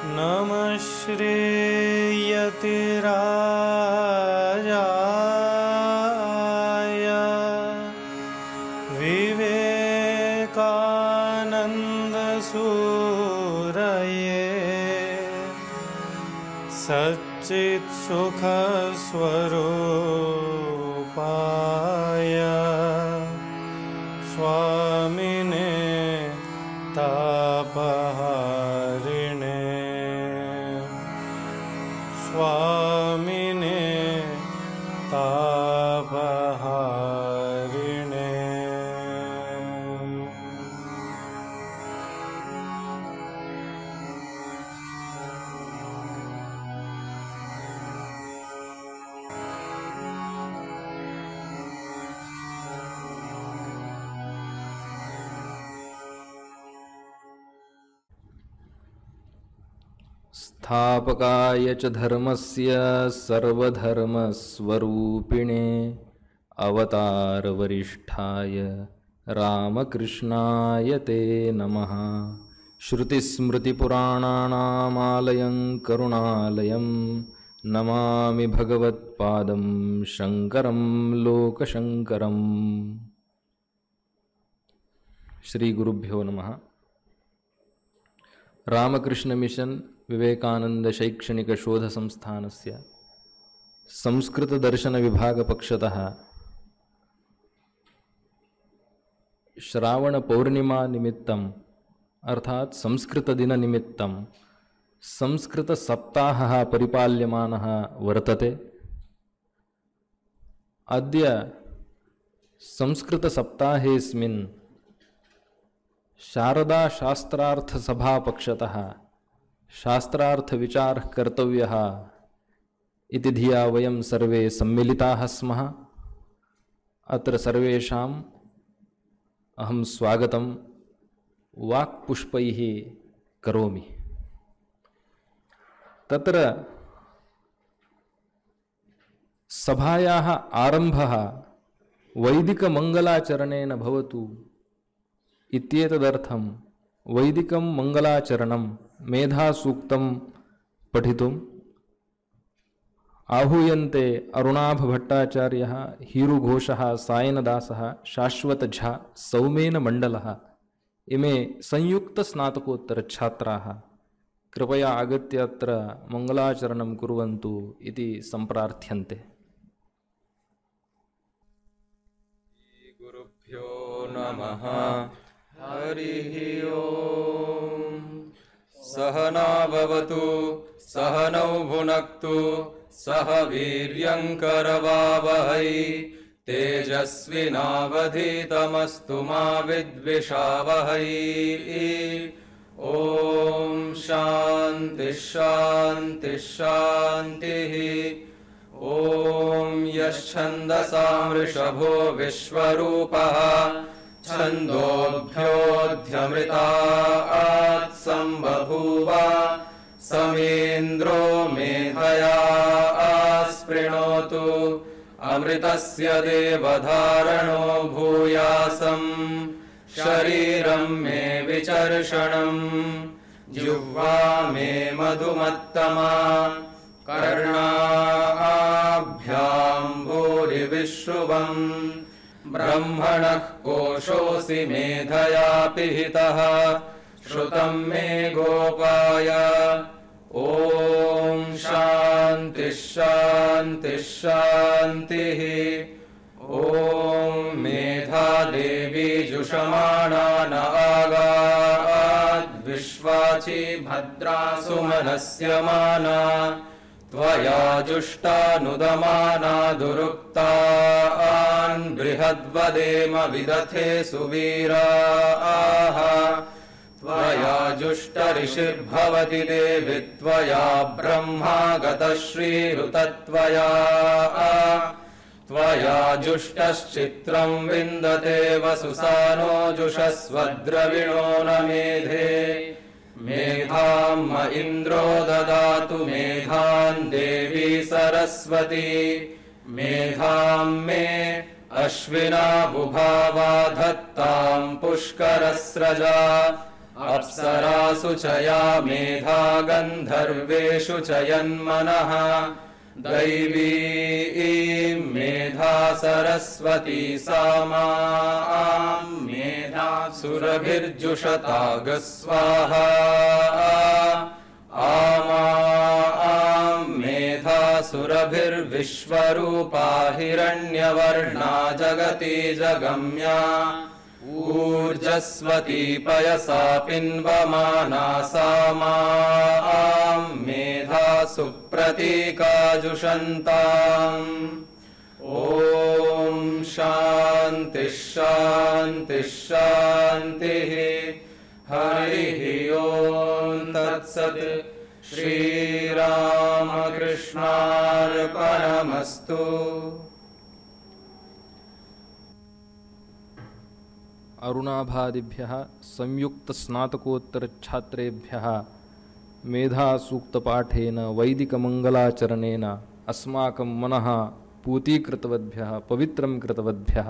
नमः श्रीयतिराजाय विवेकानन्दसूरये सच्चित्सुखस्वरूपाय स्वामिने तापहारिणे स्वामिने तापहारिणे। स्थापकाय च धर्मस्य सर्वधर्मस्वरूपिणे अवतारवरिष्ठाय रामकृष्णाय ते नमः। श्रुतिस्मृतिपुराणानामालयं करुणालयं नमामि भगवत्पादं शङ्करं लोकशङ्करम्। श्रीगुरुभ्यो नमः। रामकृष्ण मिशन विवेकानंद शैक्षणिक शोध संस्थानस्य संस्कृत दर्शन विभाग पक्षतः श्रावण पौर्णिमा निमित्तम् अर्थात संस्कृत दिन निमित्तं संस्कृत सप्ताहः परिपाल्यमानः वर्तते। अद्य संस्कृत सप्ताहेस्मिन् शारदा शास्त्रार्थ सभा पक्षतः शास्त्रार्थ विचार कर्तव्यः इति धिया वयं सर्वे सम्मिलिताः स्मः। अत्र सर्वेषाम् अहं स्वागतं वाक्पुष्पैः करोमि। तत्र सभायाः आरम्भः वैदिकमङ्गलाचरणेन भवतु इत्येतदर्थं वैदिकं मङ्गलाचरणं मेधासूक्तं पठितुम् आहूयन्ते अरुणाभभट्टाचार्यः, हीरुघोषः, सायनदासः, शाश्वतझा, सौमेनमण्डलः इमे संयुक्तस्नातकोत्तरछात्राः कृपया आगत्य अत्र मङ्गलाचरणं कुर्वन्तु इति सम्प्रार्थ्यन्ते। गुरुभ्यो नमः। हरिः ओम्। सहना भवतु सहनौ भुनक्तु सह वीर्यङ्करवावहै तेजस्विनावधीतमस्तु मा विद्विषावहै। ॐ शान्तिः शान्तिः शान्तिः। ॐ यच्छन्दसां वृषभो विश्वरूपः छन्दोभ्योऽध्यमृतात् सम्बभूव समेन्द्रो मेधया आस्पृणोतु अमृतस्य देवधारणो भूयासं शरीरं मे विचर्षणम् जिह्वा मे मधुमत्तमा कर्णाभ्यां भूरिविश्रुवम् ब्रह्मणः कोशोऽसि मेधया पिहितः श्रुतं मे गोपाय। ॐ शान्तिः शान्तिः शान्तिः। ॐ मेधा देवी जुषमाणा न आगात् विश्वाची भद्रा सुमनस्यमाना त्वया जुष्टानुदमाना दुरुक्तान् बृहद्वदेम विदथे सुवीराः त्वया जुष्टऋषिर्भवति देवि त्वया ब्रह्मा गतश्रीरुतत्वया त्वया जुष्टश्चित्रं विन्दते वसुसानो जुषस्वद्रविणो न मेधे मेधाम् इन्द्रो ददातु मेधान् देवी सरस्वती मेधाम् मे अश्विना बुभावा धत्ताम् पुष्करस्रजा अप्सरासु च या मेधा गन्धर्वेषु च यन्मनः दैवी मेधा सरस्वती सा मां मेधा सुरभिर्जुषतागस्वाहा आमां मेधा सुरभिर्विश्वरूपा हिरण्यवर्णा जगति जगम्या ऊर्जस्वती पयसा पिन्वमाना सा मां मेधा सुप्रतीकाजुषन्ताम् ॐ शान्तिः शान्तिः शान्तिः हरिः ॐ तत्सत् श्रीरामकृष्णार्पणमस्तु। अरुणाभादिभ्यः संयुक्तस्नातकोत्तरछात्रेभ्यः मेधासूक्तपाठेन वैदिकमङ्गलाचरणेन अस्माकं मनः पूतीकृतवद्भ्यः पवित्रं कृतवद्भ्यः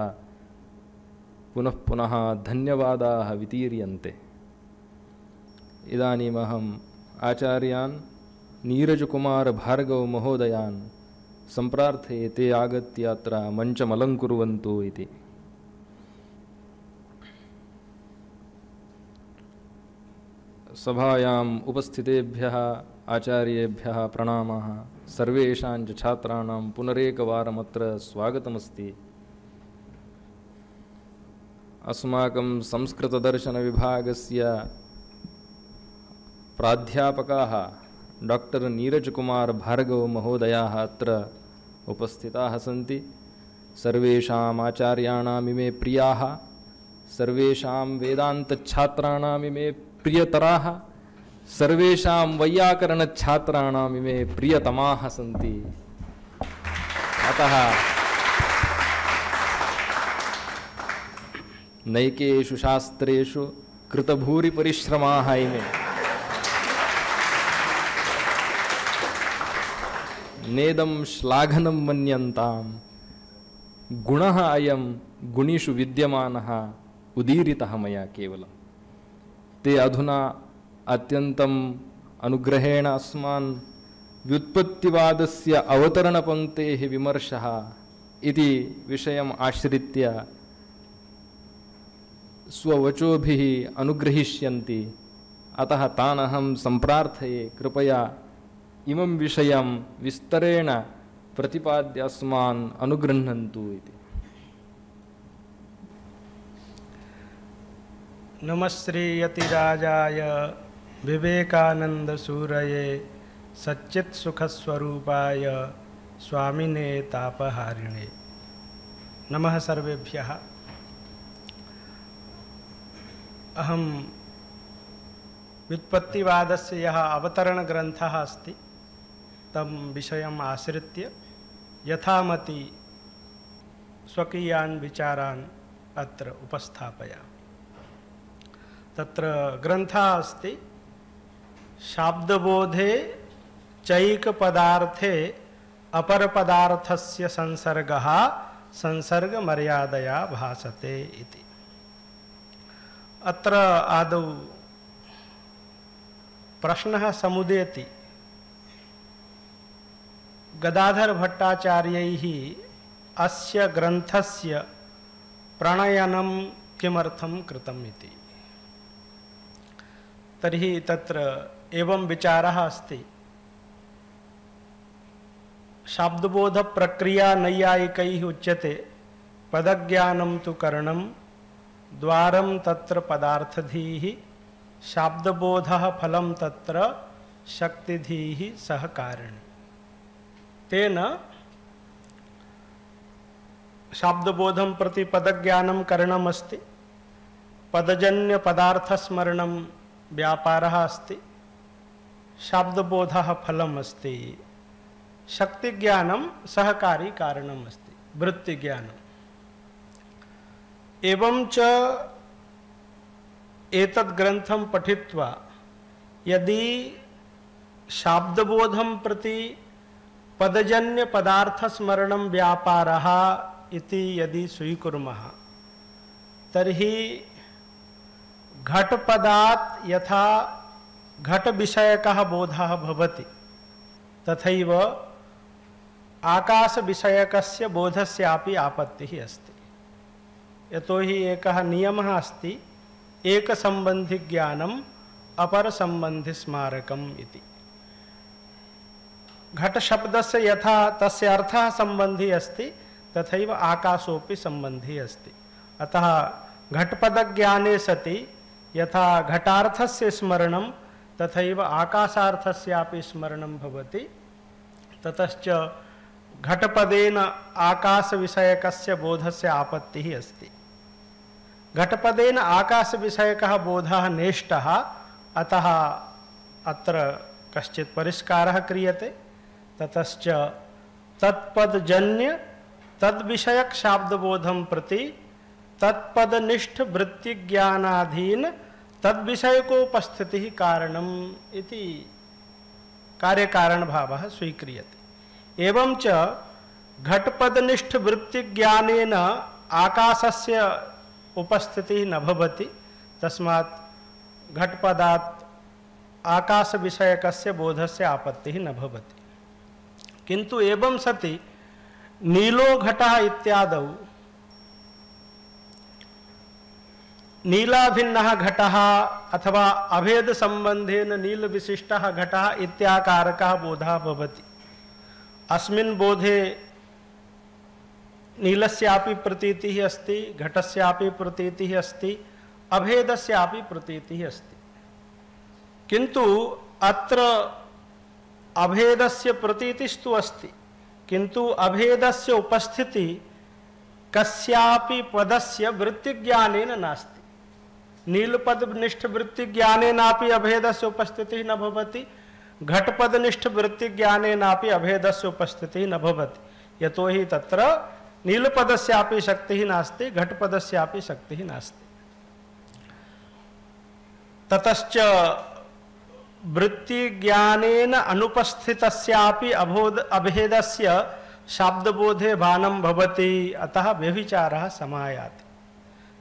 पुनः पुनः धन्यवादाः वितीर्यन्ते। इदानीमहम् आचार्यान् नीरजकुमारभार्गवमहोदयान् सम्प्रार्थये ते आगत्य अत्र मञ्चमलङ्कुर्वन्तु इति। सभायाम् उपस्थितेभ्यः आचार्येभ्यः प्रणामाः। सर्वेषां च छात्राणां पुनरेकवारमत्र स्वागतमस्ति। अस्माकं संस्कृतदर्शनविभागस्य प्राध्यापकाः डॉक्टर नीरजकुमार भार्गवमहोदयाः अत्र उपस्थिताः सन्ति। सर्वेषाम् आचार्याणाम् इमे प्रियाः, सर्वेषां वेदान्तछात्राणाम् इमे प्रियतराः, सर्वेषां वैयाकरणछात्राणाम् इमे प्रियतमाः सन्ति। अतः नैकेषु शास्त्रेषु कृतभूरिपरिश्रमाः इमे नेदं श्लाघनं मन्यन्तां गुणः अयं गुणिषु विद्यमानः उदीरितः मया केवलम्। ते अधुना अत्यन्तम् अनुग्रहेण अस्मान् व्युत्पत्तिवादस्य अवतरणपङ्क्तेः विमर्शः इति विषयम् आश्रित्य स्ववचोभिः अनुग्रहीष्यन्ति। अतः तान् अहं सम्प्रार्थये कृपया इमं विषयं विस्तरेण प्रतिपाद्य अस्मान् अनुगृह्णन्तु इति। नमश्रीयतिराजाय विवेकानन्दसूरये सच्चित्सुखस्वरूपाय स्वामिने तापहारिणे नमः सर्वेभ्यः। अहं व्युत्पत्तिवादस्य यः अवतरणग्रन्थः अस्ति तं विषयम् आश्रित्य यथामति स्वकीयान् विचारान् अत्र उपस्थापयामि। तत्र ग्रन्थः अस्ति शाब्दबोधे चैकपदार्थे अपरपदार्थस्य संसर्गः संसर्गमर्यादया भासते इति। अत्र आदौ प्रश्नः समुदेति गदाधर भट्टाचार्यैः अस्य ग्रन्थस्य प्रणयनं किमर्थं कृतम् इति। तर्हि तत्र एवं विचारः अस्ति। शाब्दबोधप्रक्रिया नैयायिकैः उच्यते पदज्ञानं तु करणं द्वारं तत्र पदार्थधीः शाब्दबोधः फलं तत्र शक्तिधीः सहकारिणी। तेन शाब्दबोधं प्रति पदज्ञानं करणमस्ति, पदजन्यपदार्थस्मरणं व्यापारः अस्ति, शाब्दबोधः फलम् अस्ति, शक्तिज्ञानं सहकारी कारणम् अस्ति, वृत्तिज्ञानम्। एवं च एतद् ग्रन्थं पठित्वा यदि शाब्दबोधं प्रति पदजन्यपदार्थस्मरणं व्यापारः इति यदि स्वीकुर्मः तर्हि घटपदात् यथा घट विषयकः बोधः भवति तथैव आकाश विषयकस्य बोधस्यापि आपत्तिः अस्ति। यतोहि एकः नियमः अस्ति, एक संबंधि ज्ञानम अपर संबंधि स्मारकम इति। घट शब्दस्य यथा तस्य अर्थः संबंधी अस्ति तथैव आकाशोपि संबंधी अस्ति। अतः घटपद ज्ञाने सति यथा घटार्थस्य स्मरणं तथैव आकाशार्थस्यापि स्मरणं भवति। ततश्च घटपदेन आकाश विषयकस्य बोधस्य आपत्तिः अस्ति। घटपदेन आकाश विषयकः बोधः नेष्टः, अतः अत्र कश्चित् परिष्कारः क्रियते। ततश्च तत्पदजन्य तद्विषयक शाब्दबोधं प्रति तत्पदनिष्ठ वृत्तिज्ञानाधीन तद्विषयकोपस्थितिः कारणम् इति कार्यकारणभावः स्वीक्रियते। एवं च घटपदनिष्ठ वृत्तिज्ञानेन आकाशस्य उपस्थितिः न भवति, तस्मात् घटपदात् आकाश विषयकस्य बोधस्य आपत्तिः न भवति। किन्तु एवं सति नीलो घटः इत्यादौ नीलाभिन्नः घटः अथवा अभेद संबंधेन नील विशिष्टः घटः इत्याकारकः बोधः भवति। अस्मिन् बोधे नीलस्यापि प्रतीतिः अस्ति, घटस्यापि प्रतीतिः अस्ति, अभेदस्यापि प्रतीतिः अस्ति। किन्तु अत्र अभेदस्य प्रतीतिस्तु अस्ति, किन्तु अभेदस्य उपस्थिति कस्यापि पदस्य वृत्तिज्ञानेन नास्ति। नीलपदनिष्ठ वृत्तिज्ञानेनापि अभेदस्य उपस्थितिः न भवति, घटपदनिष्ठ वृत्तिज्ञानेनापि अभेदस्य उपस्थितिः न भवति। यतोहि तत्र नीलपदस्यापि शक्तिः नास्ति, घटपदस्यापि शक्तिः नास्ति। ततश्च वृत्तिज्ञानेन अनुपस्थितस्यापि अभेदस्य शाब्दबोधे भानं भवति, अतः व्यभिचारः समायाति।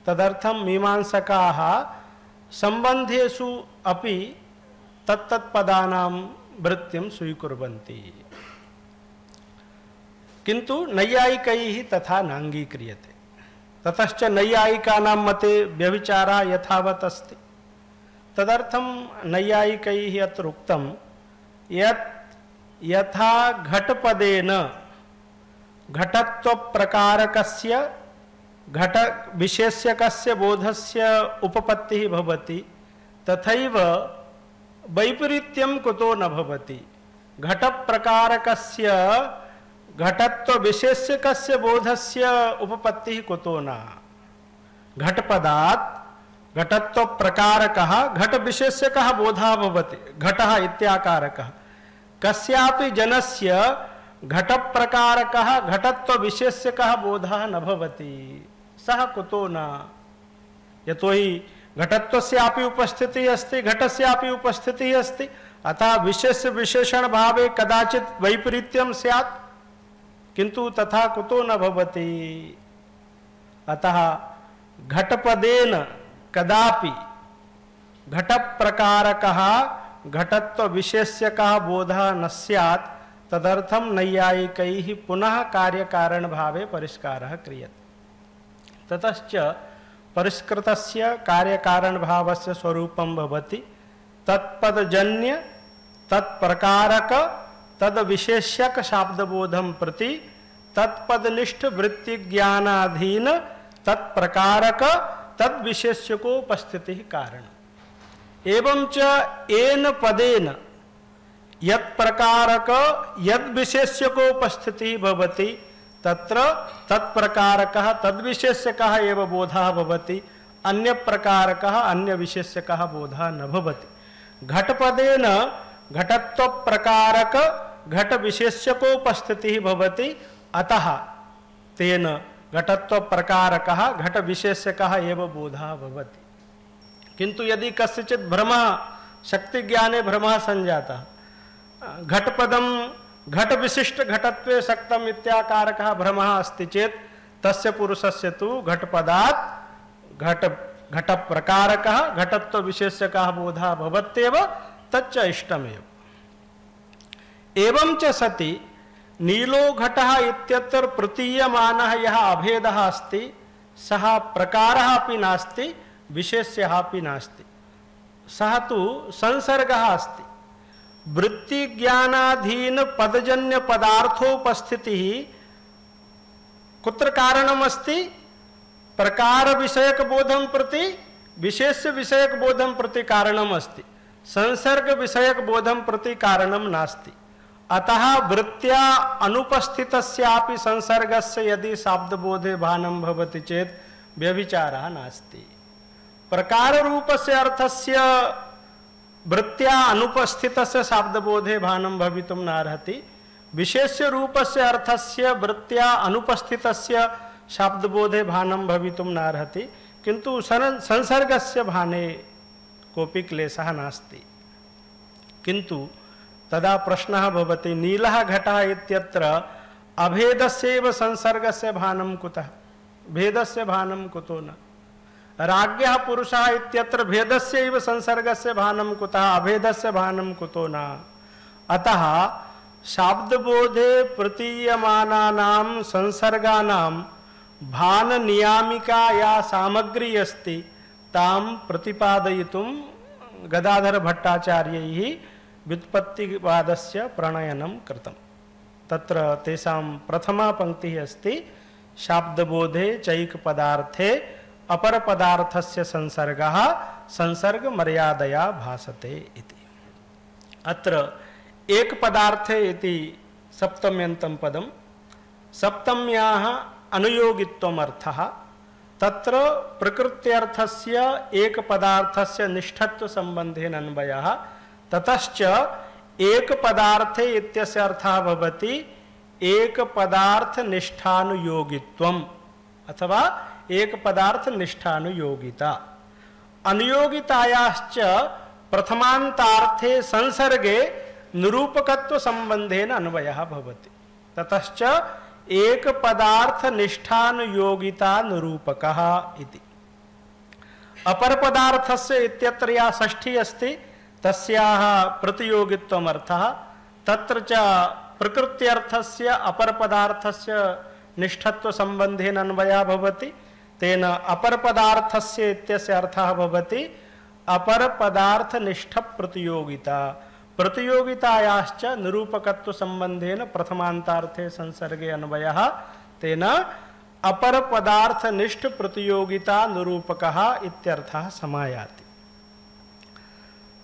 तदर्थं मीमांसकाः संबंधेषु अपि तत्तत्पदानां वृत्तिं स्वीकुर्वन्ति, किन्तु नैयायिकैः तथा नाङ्गीक्रियते। ततश्च नैयायिकानां मते व्यभिचारः यथावत् अस्ति। तदर्थं नैयायिकैः अत्र उक्तं यत् यथा घटपदेन घटत्वप्रकारकस्य घट विशेष्यकस्य बोधस्य उपपत्तिः भवति, तथैव वैपरीत्यं कुतो न भवति। घटप्रकारकस्य घटत्वविशेष्यकस्य बोधस्य उपपत्तिः कुतो न। घटपदात् घटत्वप्रकारकः घटविशेष्यकः बोधः भवति, घटः इत्याकारकः। कस्यापि जनस्य घटप्रकारकः घटत्वविशेष्यकः बोधः न भवति, सः कुतो न। यतोहि घटत्वस्यापि उपस्थितिः अस्ति, घटस्यापि उपस्थितिः अस्ति, अतः विशेष विशेषण भावे कदाचित् वैपरीत्यं स्यात्, किन्तु तथा कुतो न भवति। अतः घटपदेन कदापि घटप्रकारकः घटत्वविशेष्यकः बोधः न स्यात्। तदर्थं नैयायिकैः पुनः कार्यकारण भावे परिष्कारः क्रियते। ततश्च परिष्कृतस्य कार्यकारण भावस्य स्वरूपं भवति तत्पदजन्य तत्प्रकारक तद्विशेष्यक शाब्दबोधं प्रति तत्पदनिष्ठ वृत्तिज्ञानाधीन तत्प्रकारक तद्विशेष्यकोपस्थितिः कारणम्। एवं च येन पदेन यत्प्रकारक यद्विशेष्यकोपस्थितिः भवति तत्र तत्प्रकारकः तद्विशेष्यकः एव बोधः भवति, अन्यप्रकारकः अन्यविशेष्यकः बोधः न भवति। घटपदेन घटत्वप्रकारक घटविशेष्यकोपस्थितिः भवति, अतः तेन घटत्वप्रकारकः घटविशेष्यकः एव बोधः भवति। किन्तु यदि कस्यचित् भ्रमः शक्तिज्ञाने भ्रमः संजातः, घटपदं घटविशिष्ट घटत्वे शक्तम् इत्याकारकः भ्रमः अस्ति चेत् तस्य पुरुषस्य तु घटपदात् घट घट प्रकारकः घटत्व विशेष्यकः बोधः भवत्येव तच्च इष्टमेव। एवं च सति नीलो घटः इत्यत्र प्रतीयमानः यः अभेदः अस्ति सः प्रकारः अपि नास्ति विशेष्यः अपि नास्ति, सः तु संसर्गः अस्ति। वृत्तिज्ञानाधीन पदजन्य पदार्थोपस्थितिः कुत्र कारणमस्ति? प्रकार विषयक बोधं प्रति विशेष्य विषयक बोधं प्रति कारणम् अस्ति, संसर्ग विषयक बोधं प्रति कारणं नास्ति। अतः वृत्त्या अनुपस्थितस्यापि संसर्गस्य यदि शाब्दबोधे भानं भवति चेत् व्यभिचारः नास्ति। प्रकार रूपस्य अर्थस्य वृत्त्या अनुपस्थितस्य शाब्दबोधे भानं भवितुं नार्हति, विशेष्य रूपस्य अर्थस्य वृत्त्या अनुपस्थितस्य शाब्दबोधे भानं भवितुं नार्हति, किन्तु संसर्गस्य भाने कोऽपि क्लेशः नास्ति। किन्तु तदा प्रश्नः भवति, नीलः घटः इत्यत्र अभेदस्यैव संसर्गस्य भानं कुतः, भेदस्य भानं कुतो न? राज्ञः पुरुषः इत्यत्र भेदस्यैव संसर्गस्य भानं कुतः, अभेदस्य भानं कुतो न? अतः शाब्दबोधे प्रतीयमानानां संसर्गानां भान नियामिका या सामग्री अस्ति तां प्रतिपादयितुं गदाधर भट्टाचार्यैः व्युत्पत्तिवादस्य प्रणयनं कृतं। तत्र तेषां प्रथमा पंक्तिः अस्ति शाब्दबोधे चैक पदार्थे अपर पदार्थस्य संसर्गः संसर्ग मर्यादया भासते इति। अत्र एक पदार्थे इति सप्तम्यन्तं पदं, सप्तम्याः अनुयोगित्वम् अर्थः। तत्र प्रकृत्यर्थस्य एक पदार्थस्य निष्ठत्व संबंधेन अन्वयः, ततश्च एक पदार्थे इत्यस्य अर्थः भवति एक पदार्थ निष्ठानुयोगित्वम् अथवा एक पदार्थ निष्ठानुयोगिता। अनुयोगितायाश्च प्रथमान्तार्थे संसर्गे निरूपकत्व संबंधेन अन्वयः भवति, ततश्च एक पदार्थ निष्ठानुयोगिता निरूपकः इति। अपर पदार्थस्य इत्यत्र या षष्ठी अस्ति तस्याः प्रतियोगित्वम् अर्थः। तत्र च प्रकृत्यर्थस्य अपर पदार्थस्य निष्ठत्व संबंधेन अन्वयः भवति, तेन अपर पदार्थस्य इत्यस्य अर्थः भवति अपर पदार्थ निष्ठ प्रतियोगिता। प्रतियोगितायाश्च निरूपकत्व संबंधेन प्रथमान्तार्थे संसर्गे अन्वयः, तेन अपर पदार्थ निष्ठ प्रतियोगिता निरूपकः इत्यर्थः समायाति।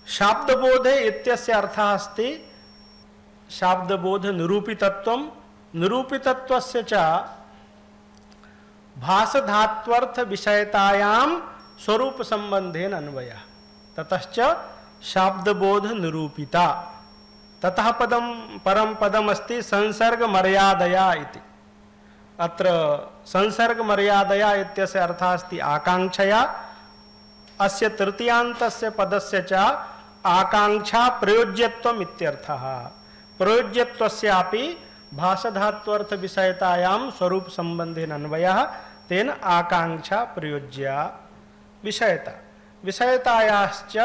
शाब्दबोधे इत्यस्य अर्थः अस्ति शाब्दबोध निरूपितत्वं, निरूपितत्वस्य च भासधात्वर्थ विषयतायां स्वरूप संबंधेन अन्वयः, ततश्च शाब्दबोध निरूपिता। ततः पदं परम पदम अस्ति संसर्ग मर्यादया इति। अत्र संसर्ग मर्यादया इत्यस्य अर्थः अस्ति आकांक्षया। अस्य तृतीयान्तस्य पदस्य च आकांक्षा प्रयोज्यत्वम् इत्यर्थः। प्रयोज्यत्वस्यापि भासधात्वर्थ विषयतायां स्वरूप संबंधेन अन्वयः, तेन आकांक्षा प्रयोज्या विषयता। विषयतायाश्च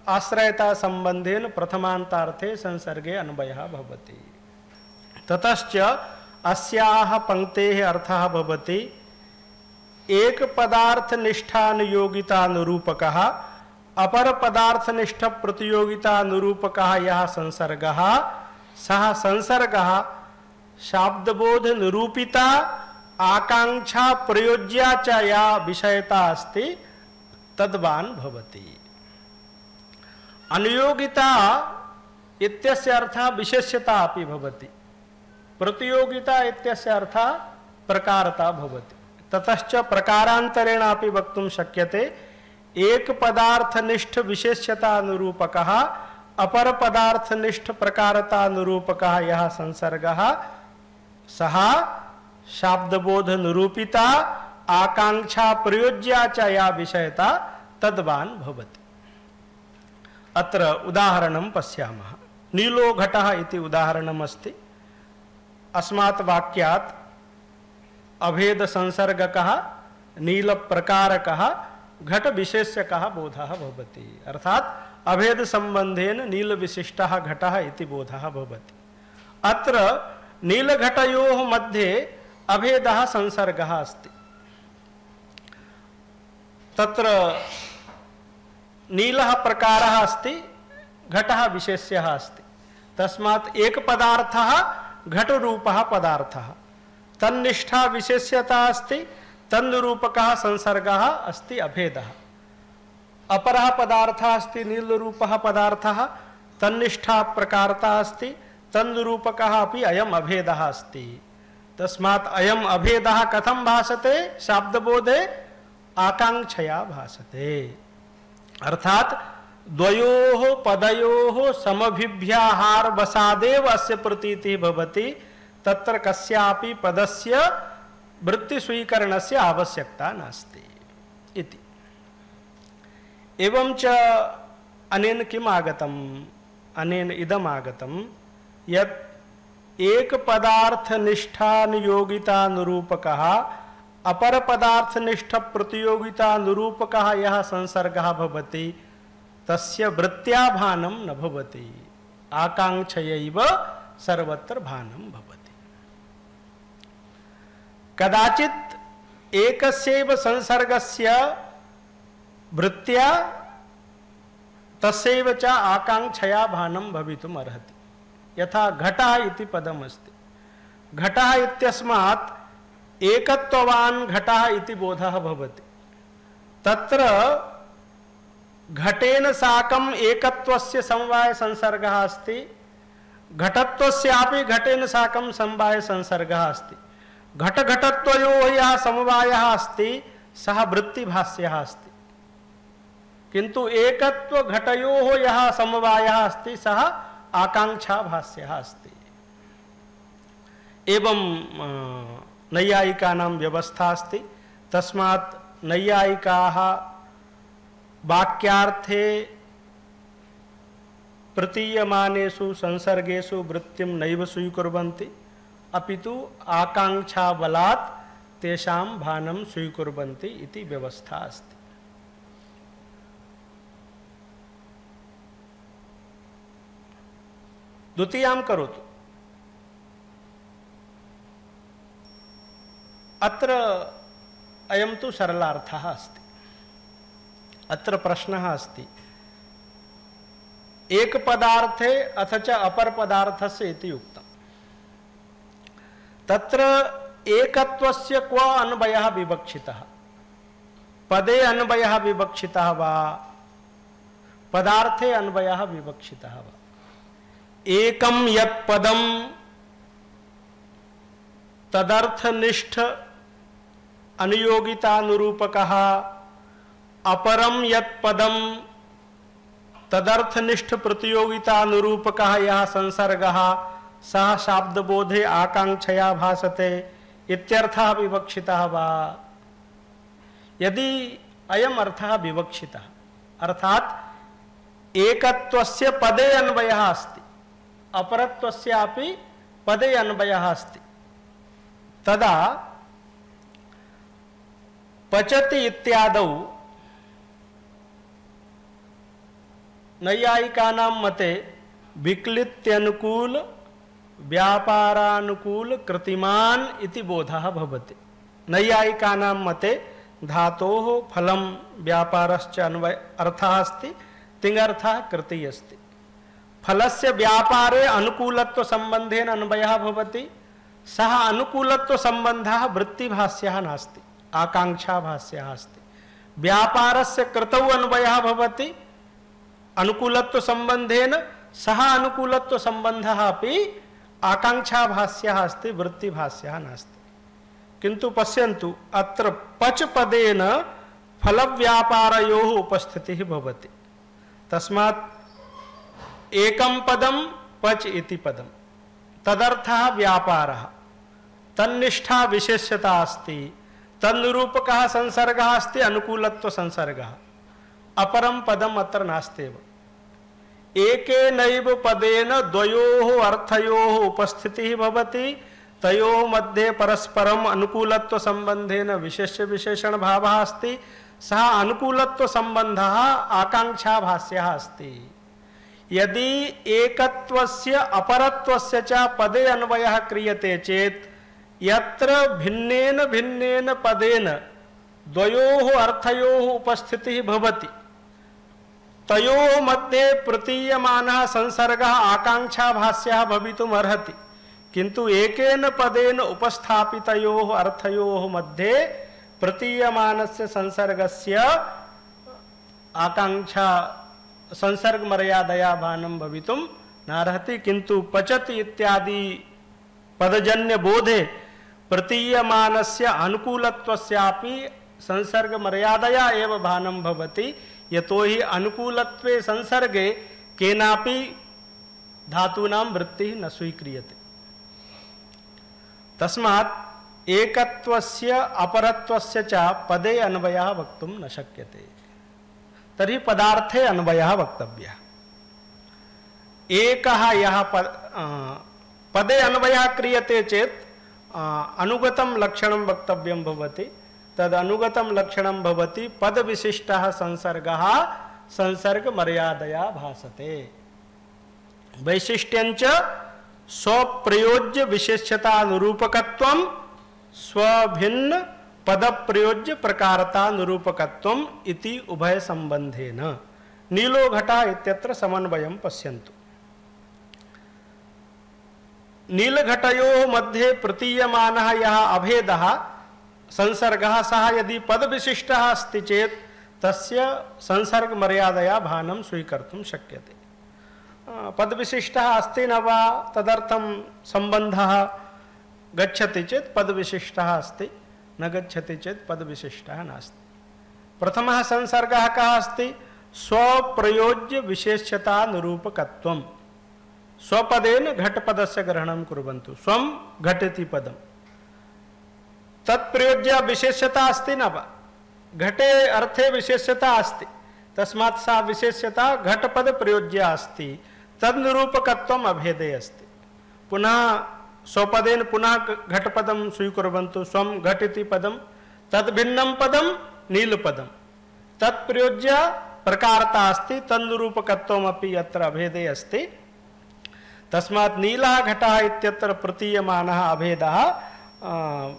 आश्रयता संबंधेन प्रथमान्तार्थे संसर्गे अन्वयः भवति। ततश्च अस्याः पंक्तेः अर्थः भवति एक पदार्थ निष्ठानुयोगिता निरूपकः अपर पदार्थ निष्ठ प्रतियोगिता निरूपकः यः संसर्गः सः संसर्गः शाब्दबोध निरूपिता आकांक्षा प्रयोज्या च या विषयता अस्ति तद्वान् भवति। अनुयोगिता इत्यस्य अर्थः विशेष्यता अपि भवति, प्रतियोगिता इत्यस्य अर्थः प्रकारता भवति। ततश्च प्रकारान्तरेण अपि वक्तुं शक्यते एक पदार्थनिष्ठ विशेष्यता निरूपकः अपर पदार्थनिष्ठ प्रकारता निरूपकः यः संसर्गः सः शाब्दबोध निरूपिता आकांक्षा प्रयोज्या च या विषयता तद्वान् भवति। अत्र उदाहरणं पश्यामः। नीलो घटः इति उदाहरणम् अस्ति। अस्मात् वाक्यात् अभेद संसर्गकः नील प्रकारकः घट विशेष्यकः बोधः भवति। अर्थात अभेद संबंधेन नील विशिष्टः घटः इति बोधः भवति। अत्र नीलघटयोः मध्ये अभेदः संसर्गः अस्ति। तत्र नीलः प्रकारः अस्ति, घटः विशेष्यः अस्ति। तस्मात् एक पदार्थः घटरूपः पदार्थः, तन्निष्ठा विशेष्यता अस्ति, तन्निरूपकः संसर्गः अस्ति अभेदः। अपरः पदार्थः अस्ति नीलरूपः पदार्थः, तन्निष्ठा प्रकारता अस्ति, तन्निरूपकः अपि अयम् अभेदः अस्ति। तस्मात् अयम् अभेदः कथं भासते शाब्दबोधे? आकांक्षया भासते। अर्थात द्वयोः पदयोः समभिव्याहार वसादेव अस्य प्रतीतिः भवति। तत्र कस्यापि पदस्य वृत्ति स्वीकरणस्य आवश्यकता नास्ति इति। एवं च अनेन किम् आगतम्? अनेन इदम् आगतम् यत् एक पदार्थ निष्ठानुयोगिता निरूपकः अपर पदार्थ निष्ठ प्रतियोगिता निरूपकः यः संसर्गः भवति तस्य वृत्त्या भानं न भवति, आकांक्षयैव सर्वत्र भानं भवति। कदाचित् एकस्यैव संसर्गस्य वृत्त्या तस्यैव च आकांक्षया भानं भवितुम् अर्हति। यथा घटः इति पदमस्ति। घटः इत्यस्मात् एकत्ववान् घटः इति बोधः भवति। तत्र घटेन साकम् एकत्वस्य समवाय संसर्गः अस्ति, घटत्वस्यापि घटेन साकं समवाय संसर्गः अस्ति। घटघटत्वयोः यः समवायः अस्ति सः वृत्तिभाष्यः अस्ति, किन्तु एकत्व घटयोः यः समवायः अस्ति सः आकांक्षाभाष्यः अस्ति। एवं नैयायिकानां व्यवस्था अस्ति। तस्मात् नैयायिकाः वाक्यार्थे प्रतीयमानेषु संसर्गेषु वृत्तिं नैव स्वीकुर्वन्ति, अपितु आकांक्षाबलात् तेषां भानं स्वीकुर्वन्ति इति व्यवस्था अस्ति। द्वितीयां करोतु। अत्र अयं तु सरलार्थः अस्ति। अत्र प्रश्नः अस्ति एक पदार्थे अथ च अपर पदार्थस्य इति उक्तम्। तत्र एकत्वस्य क्व अन्वयः विवक्षितः? पदे अन्वयः विवक्षितः वा पदार्थे अन्वयः विवक्षितः वा? एकं यत् पदं तदर्थनिष्ठ अनुयोगितानुरूपकः, अपरं यत् पदं तदर्थनिष्ठ प्रतियोगितानुरूपकः यः संसर्गः सः शाब्दबोधे आकांक्षया भासते इत्यर्थः विवक्षितः वा? यदि अयम् अर्थः विवक्षितः, अर्थात् एकत्वस्य पदे अन्वयः अस्ति, अपरत्वस्यापि पदे अन्वयः अस्ति, तदा पचति इत्यादौ नैयायिकानां मते विक्लित्यनुकूल व्यापारानुकूल कृतिमान इति बोधः भवति। नैयायिकानां मते धातोः फलं व्यापारश्च अन्वय अर्थः अस्ति, तिङर्थः कृतिः अस्ति। फलस्य व्यापारे अनुकूलत्व संबंधेन अन्वयः भवति, सः अनुकूलत्व संबंधः वृत्तिभाष्यः नास्ति, आकांक्षाभाष्यः अस्ति। व्यापारस्य कृतौ अन्वयः भवति अनुकूलत्व संबंधेन, सः अनुकूलत्व संबंधः अपि आकांक्षाभाष्यः अस्ति, वृत्तिभाष्यः नास्ति। किन्तु पश्यन्तु अत्र पच पदेन फलव्यापारयोः उपस्थितिः भवति। तस्मात् एकं पदं पच इति पदं, तदर्थः व्यापारः, तन्निष्ठा विशेष्यता अस्ति, तन्निरूपकः संसर्गः अस्ति, अनुकूलत्व संसर्गः। अपरं पदम् अत्र नास्त्येव। एकेनैव पदेन द्वयोः अर्थयोः उपस्थितिः भवति, तयोः मध्ये परस्परम् अनुकूलत्व संबंधेन विशेष्य विशेषण भावः अस्ति, सः अनुकूलत्व सम्बन्धः आकाङ्क्षाभास्यः अस्ति। यदि एकत्वस्य अपरत्वस्य च पदे अन्वयः क्रियते चेत् यत्र भिन्नेन भिन्नेन पदेन द्वयोः अर्थयोः उपस्थितिः भवति तयोः मध्ये प्रतीयमानः संसर्गः आकाङ्क्षाभास्यः भवितुम् अर्हति, किन्तु एकेन पदेन उपस्थापितयोः अर्थयोः मध्ये प्रतीयमानस्य संसर्गस्य आकाङ्क्षा संसर्ग मर्यादया भानं भवितुं नार्हति। किन्तु पचति इत्यादि पदजन्य बोधे प्रतीयमानस्य अनुकूलत्वस्यापि संसर्ग मर्यादया एव भानं भवति, यतोहि अनुकूलत्वे संसर्गे केनापि धातूनां वृत्तिः न स्वीक्रियते। तस्मात् एकत्वस्य अपरत्वस्य च पदे अन्वयः वक्तुं न शक्यते। तर्हि पदार्थे अन्वयः वक्तव्यः। एकः यः पदे अन्वयः क्रियते चेत् अनुगतं लक्षणं वक्तव्यं भवति। तद् अनुगतं लक्षणं भवति पदविशिष्टः संसर्गः संसर्ग मर्यादया भासते। वैशिष्ट्यञ्च स्वप्रयोज्य विशेष्यता निरूपकत्वं स्वभिन्न पद प्रयोज्य प्रकारता निरूपकत्वम् इति उभय संबंधेन। नीलो घटः इत्यत्र समन्वयं पश्यन्तु। नीलघटयोः मध्ये प्रतीयमानः यः अभेदः संसर्गः सः यदि पदविशिष्टः अस्ति चेत् तस्य संसर्ग मर्यादया भानं स्वीकर्तुं शक्यते। पदविशिष्टः अस्ति न वा तदर्थं सम्बन्धः गच्छति चेत् पदविशिष्टः अस्ति, न गच्छति चेत् पदविशिष्टः नास्ति। प्रथमः संसर्गः कः अस्ति? स्वप्रयोज्य विशेष्यता निरूपकत्वम्। स्वपदेन घटपदस्य ग्रहणं कुर्वन्तु। स्वं घटति पदम्, तत्प्रयोज्य विशेष्यता अस्ति न वा? घटे अर्थे विशेष्यता अस्ति, तस्मात् सा विशेष्यता घटपद प्रयोज्या अस्ति। तद्निरूपकत्वम् अभेदे अस्ति। पुनः स्वपदेन पुनः घटपदं स्वीकुर्वन्तु। स्वं घटिति पदं, तद्भिन्नं पदं नीलपदं, तत्प्रयोज्य प्रकारता अस्ति, तन्निरूपकत्वमपि यत्र अभेदे अस्ति। तस्मात् नीलः घटः इत्यत्र प्रतीयमानः अभेदः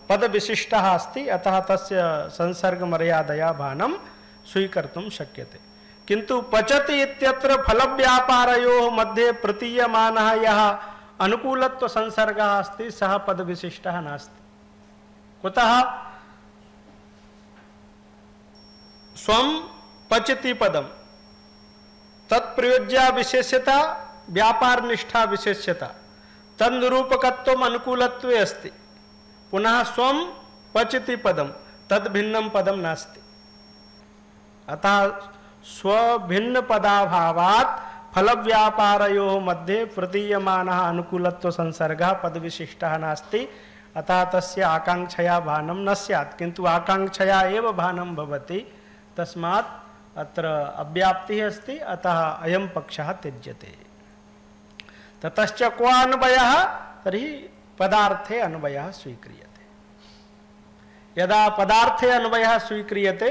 पदविशिष्टः अस्ति, अतः तस्य संसर्ग मर्यादया भानं स्वीकर्तुं शक्यते। किन्तु पचति इत्यत्र फलव्यापारयोः मध्ये प्रतीयमानः यः अनुकूलत्व संसर्गः अस्ति सः पदविशिष्टः नास्ति। कुतः? स्वं पचति पदं, तत्प्रयोज्या विशेष्यता व्यापार निष्ठा विशेष्यता, तन्निरूपकत्वम् अनुकूलत्वे अस्ति। पुनः स्वं पचति पदं, तद्भिन्नं पदं नास्ति। अतः स्वभिन्न पदाभावात् फलव्यापारयोः मध्ये प्रतीयमानः अनुकूलत्व संसर्गः पदविशिष्टः नास्ति। अतः तस्य आकाङ्क्षया भानं न स्यात्, किन्तु आकाङ्क्षया एव भानं भवति। तस्मात् अत्र अव्याप्तिः अस्ति, अतः अयं पक्षः त्यज्यते। ततश्च क्व अन्वयः? तर्हि पदार्थे अन्वयः स्वीक्रियते। यदा पदार्थे अन्वयः स्वीक्रियते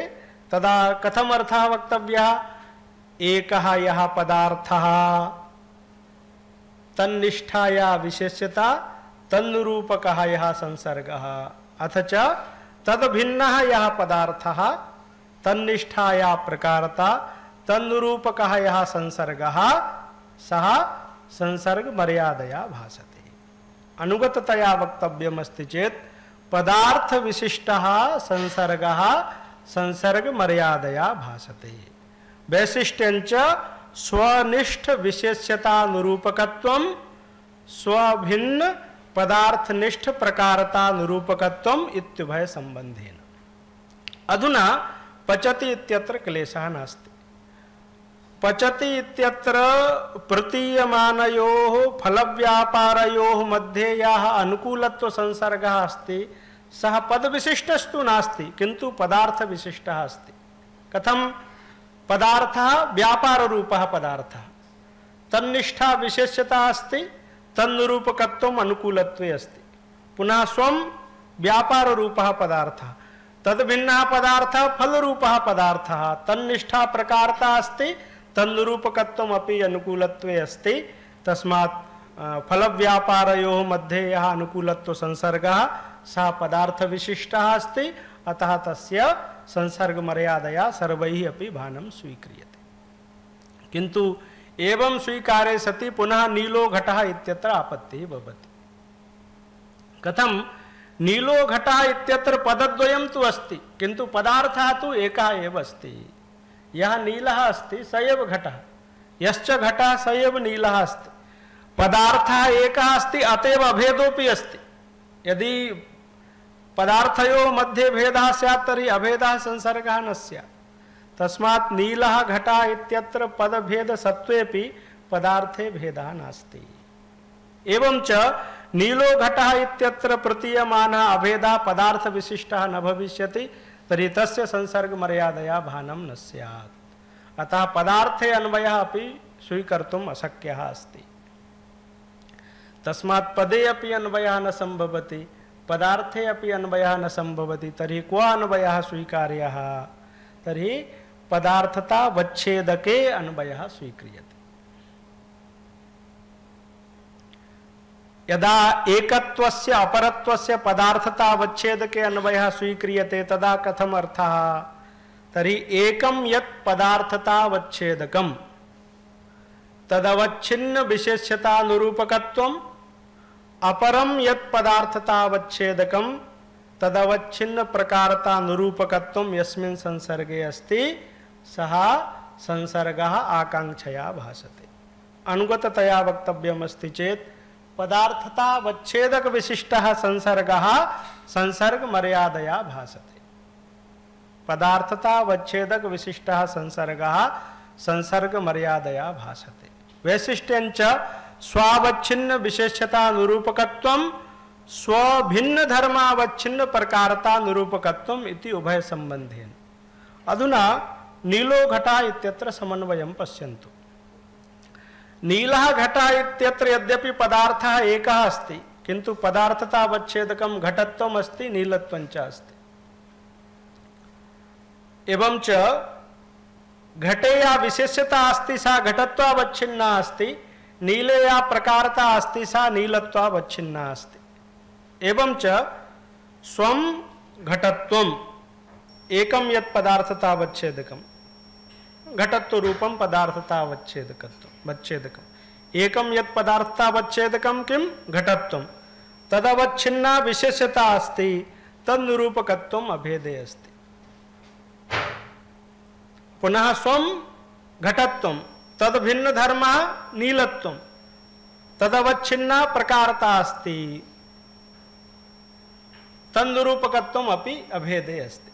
तदा कथम अर्थः वक्तव्यः? एकः यः पदार्थः तन्निष्ठाया विशेष्यता तन्निरूपकः यः संसर्गः, अथ च तद्भिन्नः यः पदार्थः तन्निष्ठाया प्रकारता तन्निरूपकः यः संसर्गः सः संसर्ग मर्यादया भासते। अनुगततया वक्तव्यमस्ति चेत् पदार्थ विशिष्टः संसर्गः संसर्ग मर्यादया भासते। वैशिष्ट्यञ्च स्वनिष्ठ विशेष्यता निरूपकत्वं स्वभिन्न पदार्थनिष्ठ प्रकारता निरूपकत्वम् इत्युभय संबंधेन। अधुना पचति इत्यत्र क्लेशः नास्ति। पचति इत्यत्र प्रतीयमानयोः फलव्यापारयोः मध्ये यः अनुकूलत्व संसर्गः अस्ति सः पदविशिष्टस्तु नास्ति, किन्तु पदार्थविशिष्टः अस्ति। कथं? पदार्थः व्यापाररूपः पदार्थः, तन्निष्ठा विशेष्यता अस्ति, तन्निरूपकत्वम् अनुकूलत्वे अस्ति। पुनः स्वं व्यापाररूपः पदार्थः, तद्भिन्नः पदार्थः फलरूपः पदार्थः तन्निष्ठा प्रकारता अस्ति तन्निरूपकत्वम् अपि अनुकूलत्वे अस्ति। तस्मात् फलव्यापारयोः मध्ये यः अनुकूलत्व संसर्गः सः पदार्थविशिष्टः अस्ति। अतः तस्य संसर्गमर्यादया सर्वैः अपि भानं स्वीक्रियते। किन्तु एवं स्वीकारे सति पुनः नीलो घटः इत्यत्र आपत्तिः भवति। कथं? नीलो घटः इत्यत्र पदद्वयं तु अस्ति किन्तु पदार्थः तु एकः एव अस्ति। यः नीलः अस्ति स एव घटः, यश्च घटः स एव नीलः अस्ति। पदार्थः एकः अस्ति, अतएव अभेदोऽपि अस्ति। यदि पदार्थयोः मध्ये भेदः स्यात् तर्हि अभेदः संसर्गः न स्यात्। तस्मात् नीलः घटः इत्यत्र पदभेदसत्त्वेपि पदार्थे भेदः नास्ति। एवं च नीलो घटः इत्यत्र प्रतीयमानः अभेदः पदार्थविशिष्टः न भविष्यति तर्हि तस्य संसर्गमर्यादया भानं न स्यात्। अतः पदार्थे अन्वयः अपि स्वीकर्तुम् अशक्यः अस्ति। तस्मात् पदे अपि अन्वयः न सम्भवति, पदार्थे अपि अन्वयः न सम्भवति। तर्हि क्व अन्वयः स्वीकार्यः? तर्हि पदार्थतावच्छेदके अन्वयः स्वीक्रियते। यदा एकत्वस्य अपरत्वस्य पदार्थतावच्छेदके अन्वयः स्वीक्रियते तदा कथम अर्थः? तर्हि एकं यत् पदार्थतावच्छेदकं तदवच्छिन्न विशेष्यतानुरूपकत्वम्, अपरं यत् पदार्थतावच्छेदकं तदवच्छिन्न प्रकारतानुरूपकत्वं यस्मिन् संसर्गे अस्ति सः संसर्गः आकांक्षया भासते। अनुगततया वक्तव्यमस्ति चेत् पदार्थतावच्छेदक विशिष्टः संसर्गः संसर्गमर्यादया भासते। पदार्थतावच्छेदक विशिष्टः संसर्गः संसर्गमर्यादया भासते। वैशिष्ट्यञ्च स्वावच्छिन्न विशेष्यतानुरूपकत्वं स्वभिन्न धर्मावच्छिन्न प्रकारतानुरूपकत्वम् इति उभय संबंधेन। अधुना नीलो घटः इत्यत्र समन्वयं पश्यन्तु। नीलः घटः इत्यत्र यद्यपि पदार्थः एकः अस्ति किन्तु पदार्थतावच्छेदकं घटत्वम् अस्ति, नीलत्वं च अस्ति। एवं च घटे या विशेष्यता अस्ति सा घटत्वावच्छिन्ना अस्ति, नीले या प्रकारता अस्ति सा नीलत्वावच्छिन्ना अस्ति। एवं च स्वं घटत्वम् एकं यत् पदार्थतावच्छेदकं घटत्व रूपं पदार्थतावच्छेदकम् एकं यत् पदार्थतावच्छेदकं किं घटत्वं तदवच्छिन्ना विशेष्यता अस्ति तन्निरूपकत्वम् अभेदे अस्ति। पुनः स्वं घटत्वं तद भिन्न धर्मः नीलत्वं तदवच्छिन्ना प्रकारता अस्ति तन्निरूपकत्वम् अपि अभेदे अस्ति।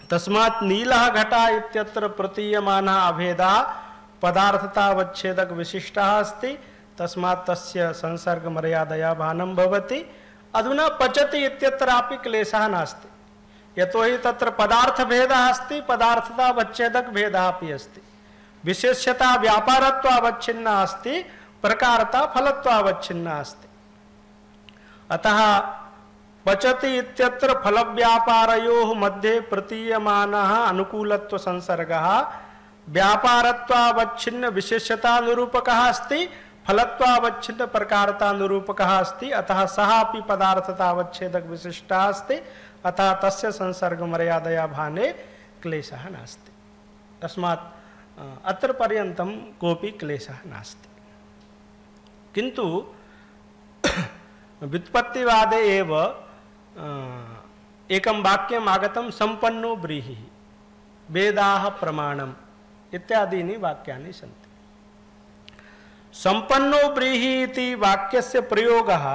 तस्मात् नीलः घटः इत्यत्र प्रतीयमानः अभेदः पदार्थतावच्छेदक विशिष्टः अस्ति। तस्मात् तस्य संसर्गमर्यादया भानं भवति। अधुना पचति इत्यत्रापि क्लेशः नास्ति, यतोहि तत्र पदार्थभेदः अस्ति, पदार्थतावच्छेदक भेदः अपि अस्ति। विशेष्यता व्यापारत्वावच्छिन्ना अस्ति, प्रकारता फलत्वावच्छिन्ना अस्ति। अतः पचति इत्यत्र फलव्यापारयोः मध्ये प्रतीयमानः अनुकूलत्व संसर्गः व्यापारत्वावच्छिन्न विशेष्यतानुरूपकः अस्ति, फलत्वावच्छिन्न प्रकारतानुरूपकः अस्ति। अतः सः अपि पदार्थतावच्छेदक विशिष्टः अस्ति। अतः तस्य संसर्गमर्यादया भाने क्लेशः नास्ति। तस्मात् अत्र पर्यन्तं कोऽपि क्लेशः नास्ति। किन्तु व्युत्पत्तिवादे एव एकं वाक्यम् आगतं सम्पन्नो व्रीहिः वेदाः प्रमाणम् इत्यादीनि वाक्यानि सन्ति। सम्पन्नो व्रीहिः इति वाक्यस्य प्रयोगः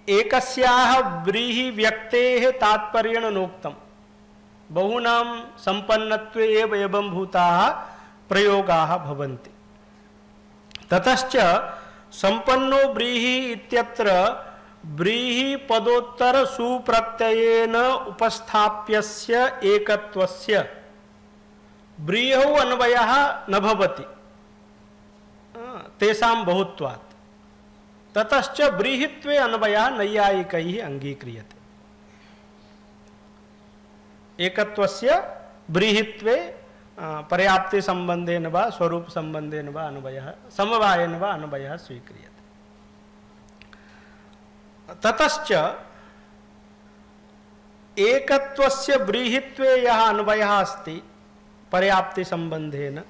एकस्याः व्रीहि व्यक्तेः तात्पर्येण नोक्तं। बहूनां सम्पन्नत्वे एव एवं भूताः प्रयोगाः भवन्ति। ततश्च सम्पन्नो व्रीहि इत्यत्र व्रीहि पदोत्तर सुप्रत्ययेन उपस्थाप्यस्य एकत्वस्य व्रीहौ अन्वयः न भवति तेषां बहुत्वात्। ततश्च व्रीहित्वे अन्वयः नैयायिकैः अङ्गीक्रियते। एकत्वस्य ब्रीहित्वे पर्याप्ति संबंधेन वा स्वरूप संबंधेन वा अन्वयः समवायेन वा अन्वयः स्वीक्रियते। ततश्च एकत्वस्य ब्रीहित्वे यः अन्वयः अस्ति पर्याप्ति संबंधेन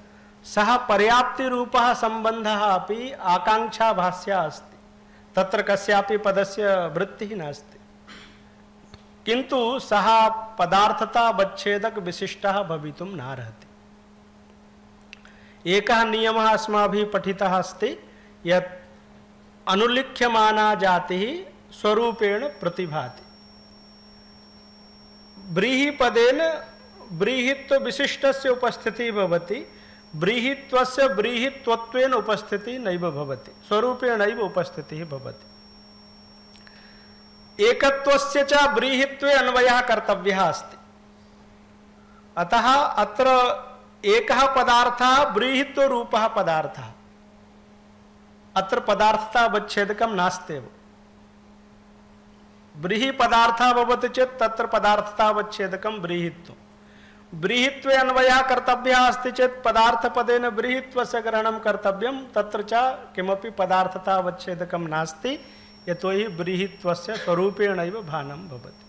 सः पर्याप्ति रूपः संबंधः अपि आकांक्षाभास्या अस्ति। तत्र कस्यापि पदस्य वृत्तिः नास्ति, किन्तु सः पदार्थतावच्छेदक विशिष्टः भवितुं नार्हति। एकः नियमः अस्माभिः पठितः अस्ति यत् अनुलिख्यमाना जातिः स्वरूपेण प्रतिभाति। ब्रीहिपदेन ब्रीहित्व विशिष्टस्य उपस्थितिः भवति, ब्रीहित्वस्य ब्रीहित्वत्वेन उपस्थितिः नैव भवति, स्वरूपेणैव उपस्थितिः भवति। एकत्वस्य च ब्रीहित्वे अन्वयः कर्तव्यः अस्ति। अतः अत्र एकः पदार्थः ब्रीहित्वरूपः पदार्थः, अत्र पदार्थतावच्छेदकं नास्त्येव। ब्रीहि पदार्थः भवति चेत् तत्र पदार्थतावच्छेदकं ब्रीहित्वं। ब्रीहित्वे अन्वयः कर्तव्यः अस्ति चेत् पदार्थपदेन ब्रीहित्वस्य ग्रहणं कर्तव्यं, तत्र च किमपि पदार्थतावच्छेदकं नास्ति, यतोहि ब्रीहित्वस्य स्वरूपेणैव भानं भवति।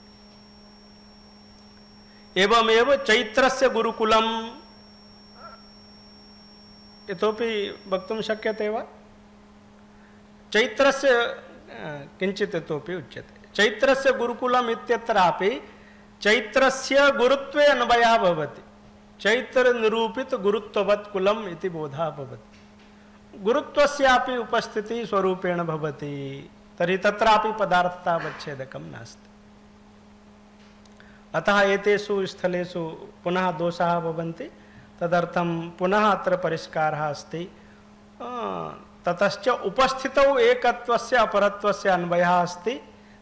एवमेव चैत्रस्य गुरुकुलम् इतोपि वक्तुं शक्यते वा? चैत्रस्य किञ्चित् इतोपि उच्यते। चैत्रस्य गुरुकुलम् इत्यत्रापि चैत्रस्य गुरुत्वे अन्वयः भवति। चैत्र निरूपित गुरुत्ववत् कुलम् इति बोधः भवति। गुरुत्वस्यापि उपस्थितिः स्वरूपेण भवति, तर्हि तत्रापि पदार्थतावच्छेदकं नास्ति। अतः एतेषु स्थलेषु पुनः दोषाः भवन्ति, तदर्थं पुनः अत्र परिष्कारः अस्ति। ततश्च उपस्थितौ एकत्वस्य अपरत्वस्य अन्वयः अस्ति,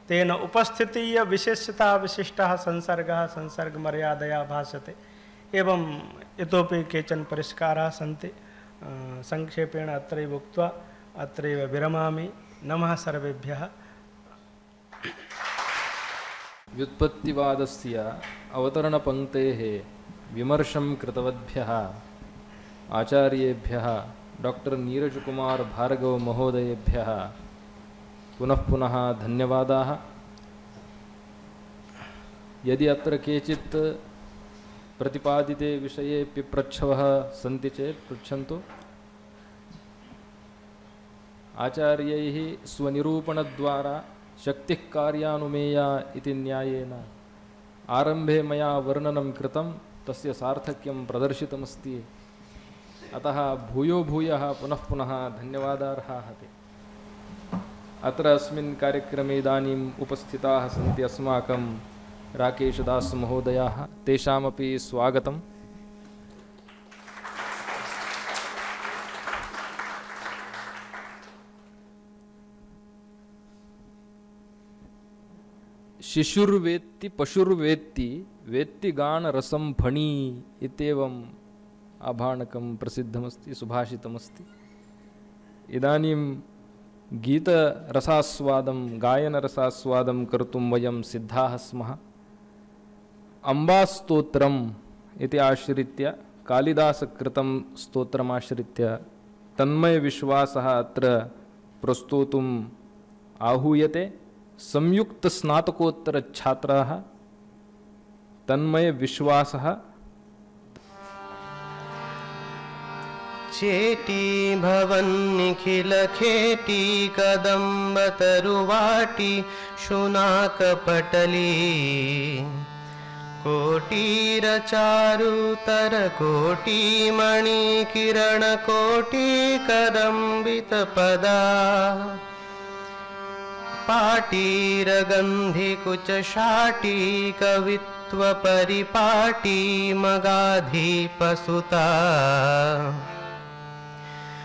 तेन उपस्थितीय विशेषता विशिष्टः संसर्गः संसर्गमर्यादया भासते। एवं इतोपि केचन परिष्काराः सन्ति, संक्षेपेण अत्रैव उक्त्वा अत्रैव विरमामि। नमः सर्वेभ्यः। व्युत्पत्तिवादस्य अवतरणपङ्क्तेः विमर्शं कृतवद्भ्यः आचार्येभ्यः डॉक्टर नीरजकुमार भार्गव महोदयेभ्यः पुनः पुनः धन्यवादाः। यदि अत्र केचित् प्रतिपादिते विषये पिप्रच्छवः सन्ति चेत् पृच्छन्तु। आचार्यैः स्वनिरूपणद्वारा शक्तिः कार्यानुमेया इति न्यायेन आरम्भे मया वर्णनं कृतं, तस्य सार्थक्यं प्रदर्शितमस्ति। अतः भूयो भूयः पुनः पुनः धन्यवादार्हाः ते। अत्र अस्मिन् कार्यक्रमे इदानीम् उपस्थिताः सन्ति अस्माकं राकेशदास महोदयाः, तेषामपि स्वागतम्। शिशुर्वेत्ति पशुर्वेत्ति वेत्ति गानरसं फणी इत्येवम् आभाणकं प्रसिद्धमस्ति, सुभाषितमस्ति। इदानीं गीतरसास्वादं गायनरसास्वादं कर्तुं वयं सिद्धाः स्मः। अम्बास्तोत्रम् इति आश्रित्य कालिदासकृतं स्तोत्रमाश्रित्य तन्मयविश्वासः अत्र प्रस्तोतुम् आहूयते। संयुक्तस्नातकोत्तरछात्राः तन्मयविश्वासः चेटी भवन्निखिलखेटी कदम्बतरुवाटी शुनाकपटली कोटीरचारुतरकोटीमणिकिरणकोटीकदम्बितपदा पाटीरगन्धिकुचशाटी कवित्वपरिपाटी मगाधीपसुता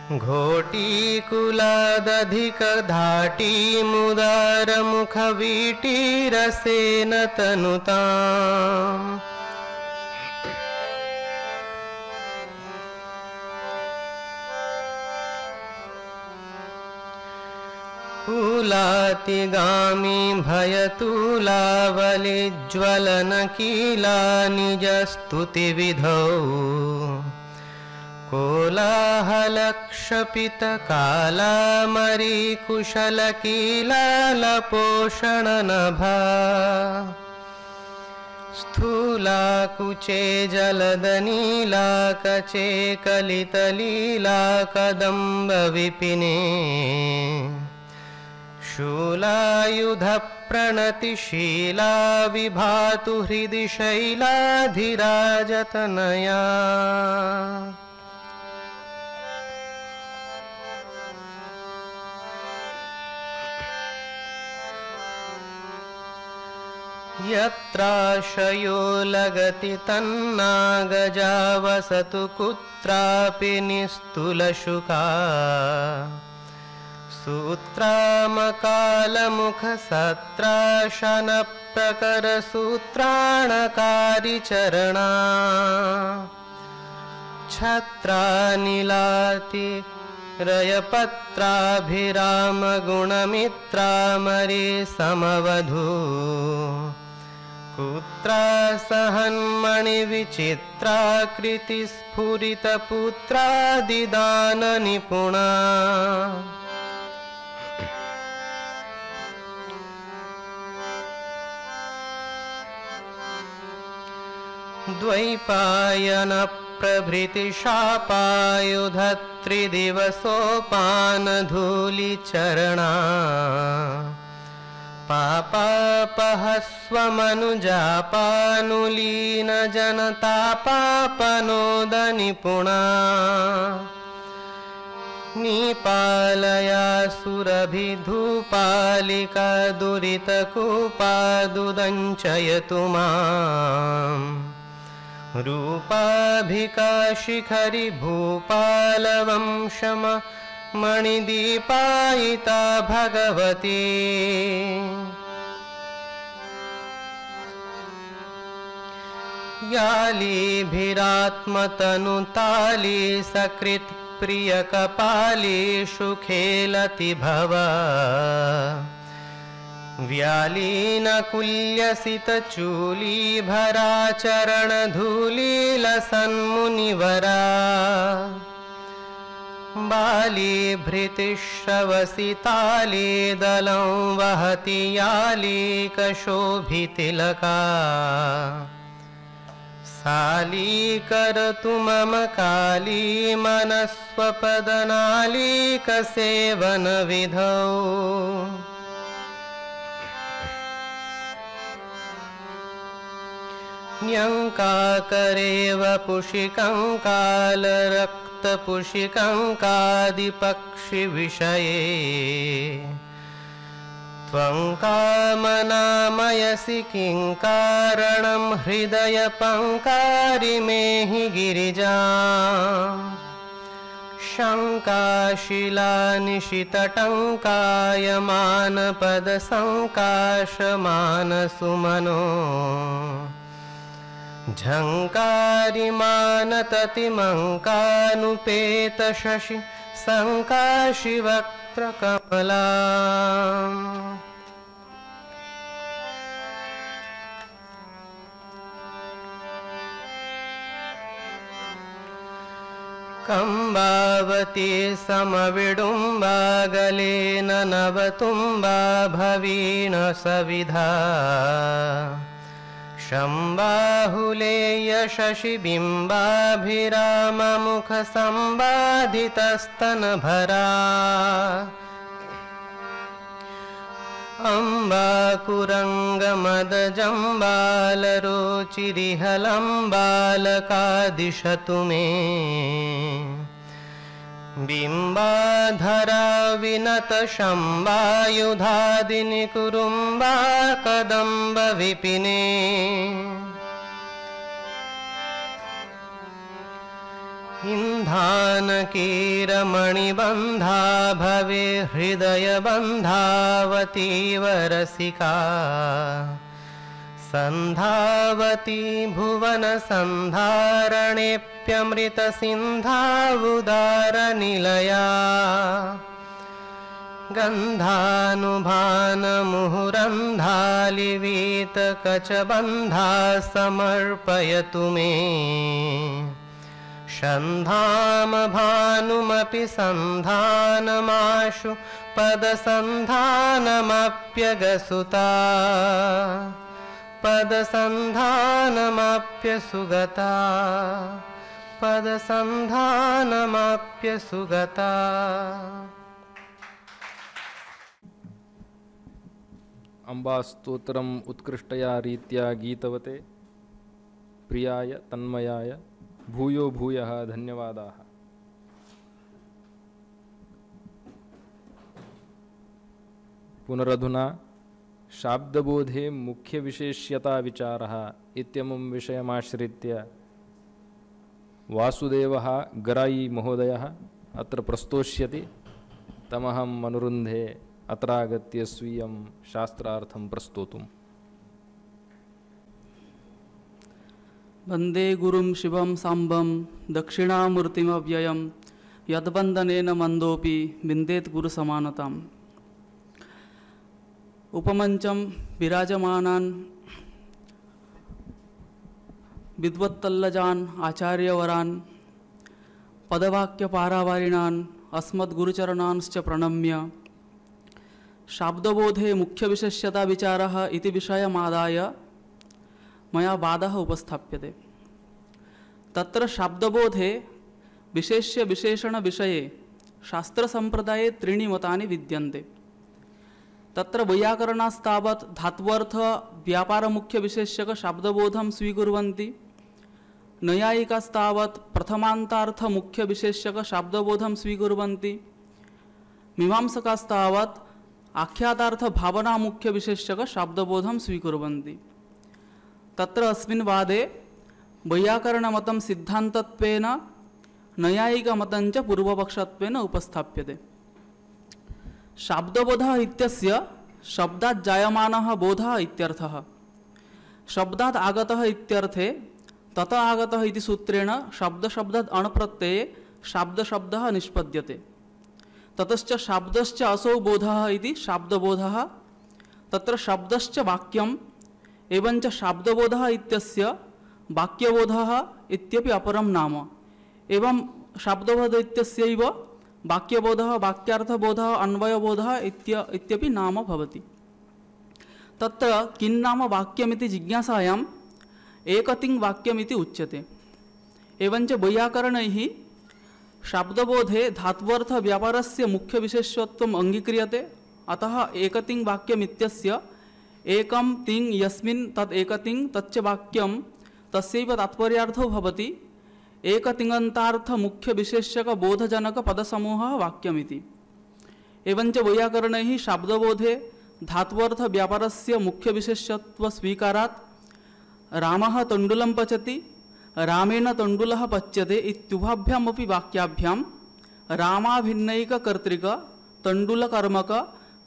घोटीकुलादधिकधाटी मुदारमुखवीटीरसेन तनुताम् कुलातिगामी भयतुलावलिज्वलनकीला निजस्तुतिविधौ कोलाहलक्षपितकालामरीकुशलकीलालपोषणनभा स्थूलाकुचे जलदनीलाकचे कलितलीला कदम्बविपिने शूलायुधप्रणतिशीला विभातु हृदि शैलाधिराजतनया यत्राशयो लगति तन्नागजा वसतु कुत्रापि निस्तुलशुका सूत्रामकालमुखसत्राशनप्रकरसूत्राणकारिचरणा छत्रानिलाति रयपत्राभिरामगुणमित्रामरी समवधू कुत्रा सहन्मणिविचित्राकृतिस्फुरितपुत्रादिदाननिपुणा द्वैपायनप्रभृतिशापायुधत्रिदिवसोपानधूलिचरणा पापापहस्वमनुजापानुलीनजनतापापनोदनिपुणा नीपालया सुरभिधूपालिका दुरितकूपादुदञ्चयतु माम् रूपाभिका शिखरि भूपालवंशम मणिदीपायिता भगवती यालीभिरात्मतनुताली सकृत् प्रियकपालीषु खेलति भव व्यालीनकुल्यसितचूलीभराचरणधूलीलसन्मुनिवरा बालीभृतिश्रवसिताली दलं वहति यालीकशोभितिलका सालीकरतु मम काली मनस्वपदनालीकसेवनविधौ न्यङ्काकरेव पुषिकङ्कालरक्तपुषिकङ्कादिपक्षिविषये त्वं कामनामयसि किं कारणं हृदयपङ्कारिमेहि गिरिजा शङ्काशिलानिशितटङ्कायमानपदसङ्काशमानसुमनो झङ्कारिमानततिमङ्कानुपेतशशि सङ्काशिवक्त्रकमला कंबावती समविडुम्बागलेन नवतुम्बा भवीन सविधा शम्बाहुलेय शशिबिम्बाभिराममुखसम्बाधितस्तनभरा अम्बाकुरङ्गमदजम्बालरोचिरिहलम्बालकादिशतु मे बिम्बाधरा विनतशम्बायुधादिनिकुरुम्बा कदम्बविपिने इन्धानकीरमणिबन्धा भवे हृदयबन्धावतीवरसिका सन्धावती भुवनसन्धारणेऽप्यमृतसिन्धावुदारनिलया गन्धानुभानमुहुरन्धालिवीतकचबन्धा समर्पयतु मे शन्धामभानुमपि सन्धानमाशु पदसन्धानमप्यगसुता पदसन्धानमप्यसुगता पदसन्धानमप्यसुगता। अम्बास्तोत्रम् उत्कृष्टया रीत्या गीतवते प्रियाय तन्मयाय भूयो भूयः धन्यवादाः। पुनरधुना शाब्दबोधे मुख्यविशेष्यता विचारः इत्यमुं विषयमाश्रित्य वासुदेवः गराई महोदयः अत्र प्रस्तोष्यति। तमहम् अनुरुन्धे अत्रागत्य स्वीयं शास्त्रार्थं प्रस्तोतुम्। वन्दे गुरुं शिवं साम्बं दक्षिणामूर्तिमव्ययं यद्वन्दनेन मन्दोऽपि विन्देत् गुरुसमानताम्। उपमञ्चं विराजमानान् विद्वत्तल्लजान् आचार्यवरान् पदवाक्यपारावारिणान् अस्मद्गुरुचरणांश्च प्रणम्य शाब्दबोधे मुख्यविशेष्यता विचारः इति विषयमादाय मया वादः उपस्थाप्यते। तत्र शाब्दबोधे विशेष्य विशेषण विषये शास्त्रसम्प्रदाये त्रीणि मतानि विद्यन्ते। तत्र वैयाकरणास्तावत् धात्वर्थ व्यापारमुख्यविशेष्यक शाब्दबोधं स्वीकुर्वन्ति। नैयायिकास्तावत् प्रथमान्तार्थ मुख्यविशेष्यक शाब्दबोधं स्वीकुर्वन्ति। मीमांसकास्तावत् आख्यातार्थ भावना मुख्यविशेष्यक शाब्दबोधं स्वीकुर्वन्ति। तत्र अस्मिन् वादे वैयाकरणमतं सिद्धान्तत्वेन नैयायिकमतं च पूर्वपक्षत्वेन उपस्थाप्यते। शाब्दबोधः इत्यस्य शब्दात् जायमानः बोधः इत्यर्थः। शब्दात् आगतः इत्यर्थे ततः आगतः इति सूत्रेण शब्दशब्दात् अणप्रत्यये शाब्दशब्दः निष्पद्यते। ततश्च शाब्दश्च असौ बोधः इति शाब्दबोधः। तत्र शब्दश्च वाक्यम् एवञ्च शाब्दबोधः इत्यस्य वाक्यबोधः इत्यपि अपरं नाम। एवं शाब्दबोध इत्यस्यैव वाक्यबोधः वाक्यार्थबोधः अन्वयबोधः इत्यपि नाम भवति। तत्र किं नाम वाक्यमिति जिज्ञासायाम् एकतिङ् वाक्यमिति उच्यते। एवञ्च वैयाकरणैः शाब्दबोधे धात्वर्थ व्यापारस्य मुख्यविशेषत्वम् अङ्गीक्रियते। अतः एकतिङ् वाक्यमित्यस्य एकं तिङ् यस्मिन् तत् एकतिङ् तच्च वाक्यं तस्यैव तात्पर्यार्थो भवति। एकतिङन्तार्थ मुख्यविशेष्यक बोधजनक पदसमूहः वाक्यमिति। एवञ्च वैयाकरणैः शाब्दबोधे धात्वर्थ व्यापारस्य मुख्यविशेष्यत्वस्वीकारात् रामः तण्डुलं पचति रामेण तण्डुलः पच्यते इत्युभाभ्यामपि वाक्याभ्यां रामाभिन्नैककर्तृक तण्डुलकर्मक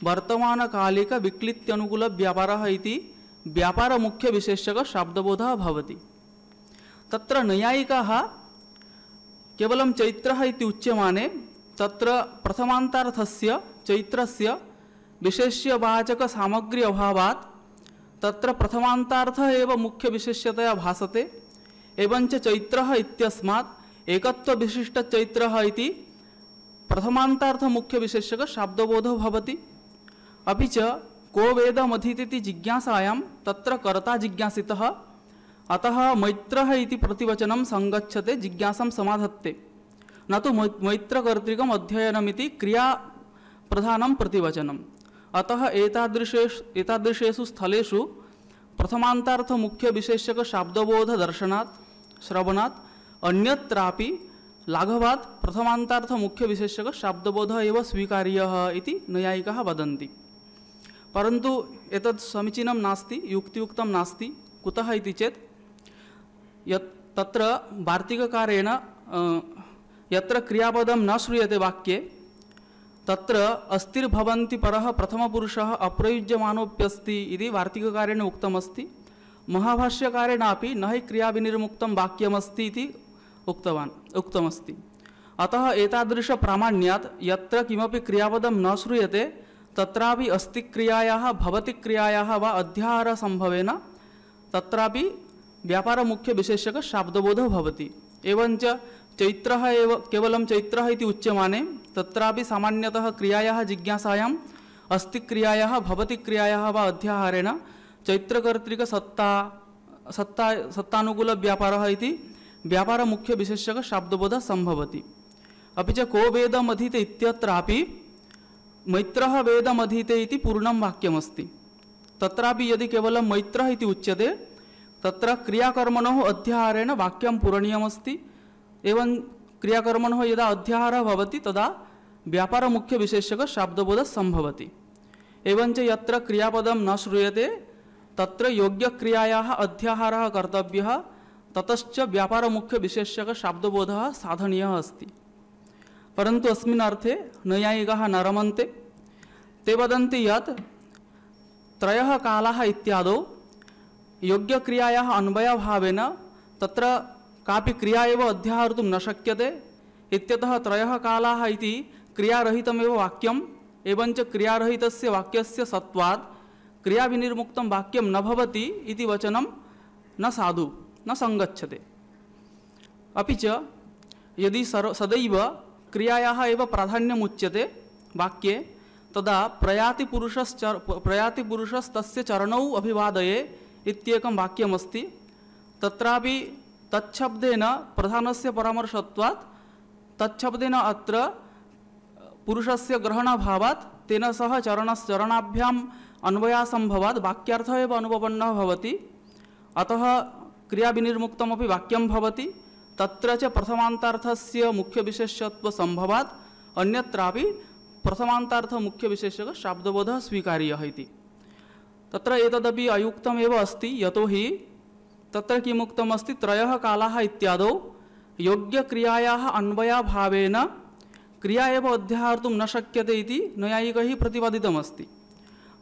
वर्तमानकालिक विक्लित्यनुकूल व्यापारः इति व्यापारमुख्यविशेष्यक शाब्दबोधः भवति। तत्र नैयायिकाः केवलं चैत्रः इति उच्यमाने तत्र प्रथमान्तार्थस्य चैत्रस्य विशेष्यवाचक सामग्री अभावात् तत्र प्रथमान्तार्थः एव मुख्यविशेष्यतया भासते। एवञ्च चैत्रः इत्यस्मात् एकत्वविशिष्टचैत्रः इति प्रथमान्तार्थ मुख्यविशेष्यक शाब्दबोधो भवति। अपि च को वेदमधीतीति जिज्ञासायां तत्र कर्ता जिज्ञासितः। अतः मैत्रः इति प्रतिवचनं संगच्छते जिज्ञासां समाधत्ते न तु मैत्रकर्तृकम् अध्ययनमिति क्रियाप्रधानं प्रतिवचनम्। अतः एतादृशेषु स्थलेषु प्रथमान्तार्थ मुख्यविशेष्यक शाब्दबोध दर्शनात् श्रवणात् अन्यत्रापि लाघवात् प्रथमान्तार्थ मुख्यविशेष्यक शाब्दबोधः एव स्वीकार्यः इति नैयायिकाः वदन्ति। परन्तु एतत् समीचीनं नास्ति, युक्तियुक्तं नास्ति। कुतः इति चेत् तत्र वार्तिककारेण यत्र क्रियापदं न श्रूयते वाक्ये तत्र अस्तिर्भवन्ति परः प्रथमपुरुषः अप्रयुज्यमानोऽप्यस्ति इति वार्तिककारेण उक्तमस्ति। महाभाष्यकारेणापि न हि क्रियाविनिर्मुक्तं वाक्यमस्ति इति उक्तमस्ति। अतः एतादृश प्रामाण्यात् यत्र किमपि क्रियापदं न श्रूयते तत्रापि अस्ति क्रियायाः भवति क्रियायाः वा अध्याहार संभवेन तत्रापि व्यापार मुख्य विशेषक शाब्दबोधः भवति। एवञ्च चैत्रः एव केवलं चैत्रः इति उच्यमाने तत्रापि सामान्यतः क्रियायाः जिज्ञासायाम् अस्ति क्रियायाः भवति क्रियायाः वा अध्याहारेण चैत्रकर्तृक सत्तानुकूल व्यापारः इति व्यापार मुख्य विशेषक शाब्दबोधः संभवति। अपि च को वेदमधीते इत्यत्रापि मैत्रः वेदमधीते इति पूर्णं वाक्यमस्ति। तत्रापि यदि केवलं मैत्रः इति उच्यते तत्र क्रियाकर्मणोः अध्याहारेण वाक्यं पूरणीयमस्ति। एवं क्रियाकर्मणोः यदा अध्याहारः भवति तदा व्यापार मुख्य विशेषक शाब्दबोधः संभवति। एवञ्च यत्र क्रियापदं न श्रूयते तत्र योग्यक्रियायाः अध्याहारः कर्तव्यः ततश्च व्यापार मुख्य विशेषक शाब्दबोधः साधनीयः अस्ति। परन्तु अस्मिन् अर्थे नैयायिकाः न रमन्ते। ते वदन्ति यत् त्रयः कालाः इत्यादौ योग्यक्रियायाः अन्वयभावेन तत्र कापि क्रिया एव अध्याहर्तुं न शक्यते इत्यतः त्रयः कालाः इति क्रियारहितमेव वाक्यम्। एवञ्च क्रियारहितस्य वाक्यस्य सत्वात् क्रियाविनिर्मुक्तं वाक्यं न भवति इति वचनं न साधु न संगच्छते। अपि च यदि सदैव क्रियायाः एव प्राधान्यम् उच्यते वाक्ये तदा प्रयाति पुरुषस्तस्य चरणौ अभिवादये इत्येकं वाक्यमस्ति। तत्रापि तच्छब्देन प्रधानस्य परामर्शत्वात् तच्छब्देन अत्र पुरुषस्य ग्रहणाभावात् तेन सह चरणाभ्याम् अन्वयासंभवात् वाक्यार्थः एव अनुपपन्नः भवति। अतः क्रियाविनिर्मुक्तमपि वाक्यं भवति। तत्र च प्रथमान्तार्थस्य मुख्यविशेषत्वसंभवात् अन्यत्रापि प्रथमान्तार्थ मुख्यविशेषक शाब्दबोधः स्वीकार्यः इति। तत्र एतदपि अयुक्तमेव अस्ति। यतोहि तत्र किमुक्तमस्ति त्रयः कालाः इत्यादौ योग्यक्रियायाः अन्वयाभावेन क्रिया एव अध्याहर्तुं न शक्यते इति नैयायिकैः प्रतिपादितमस्ति।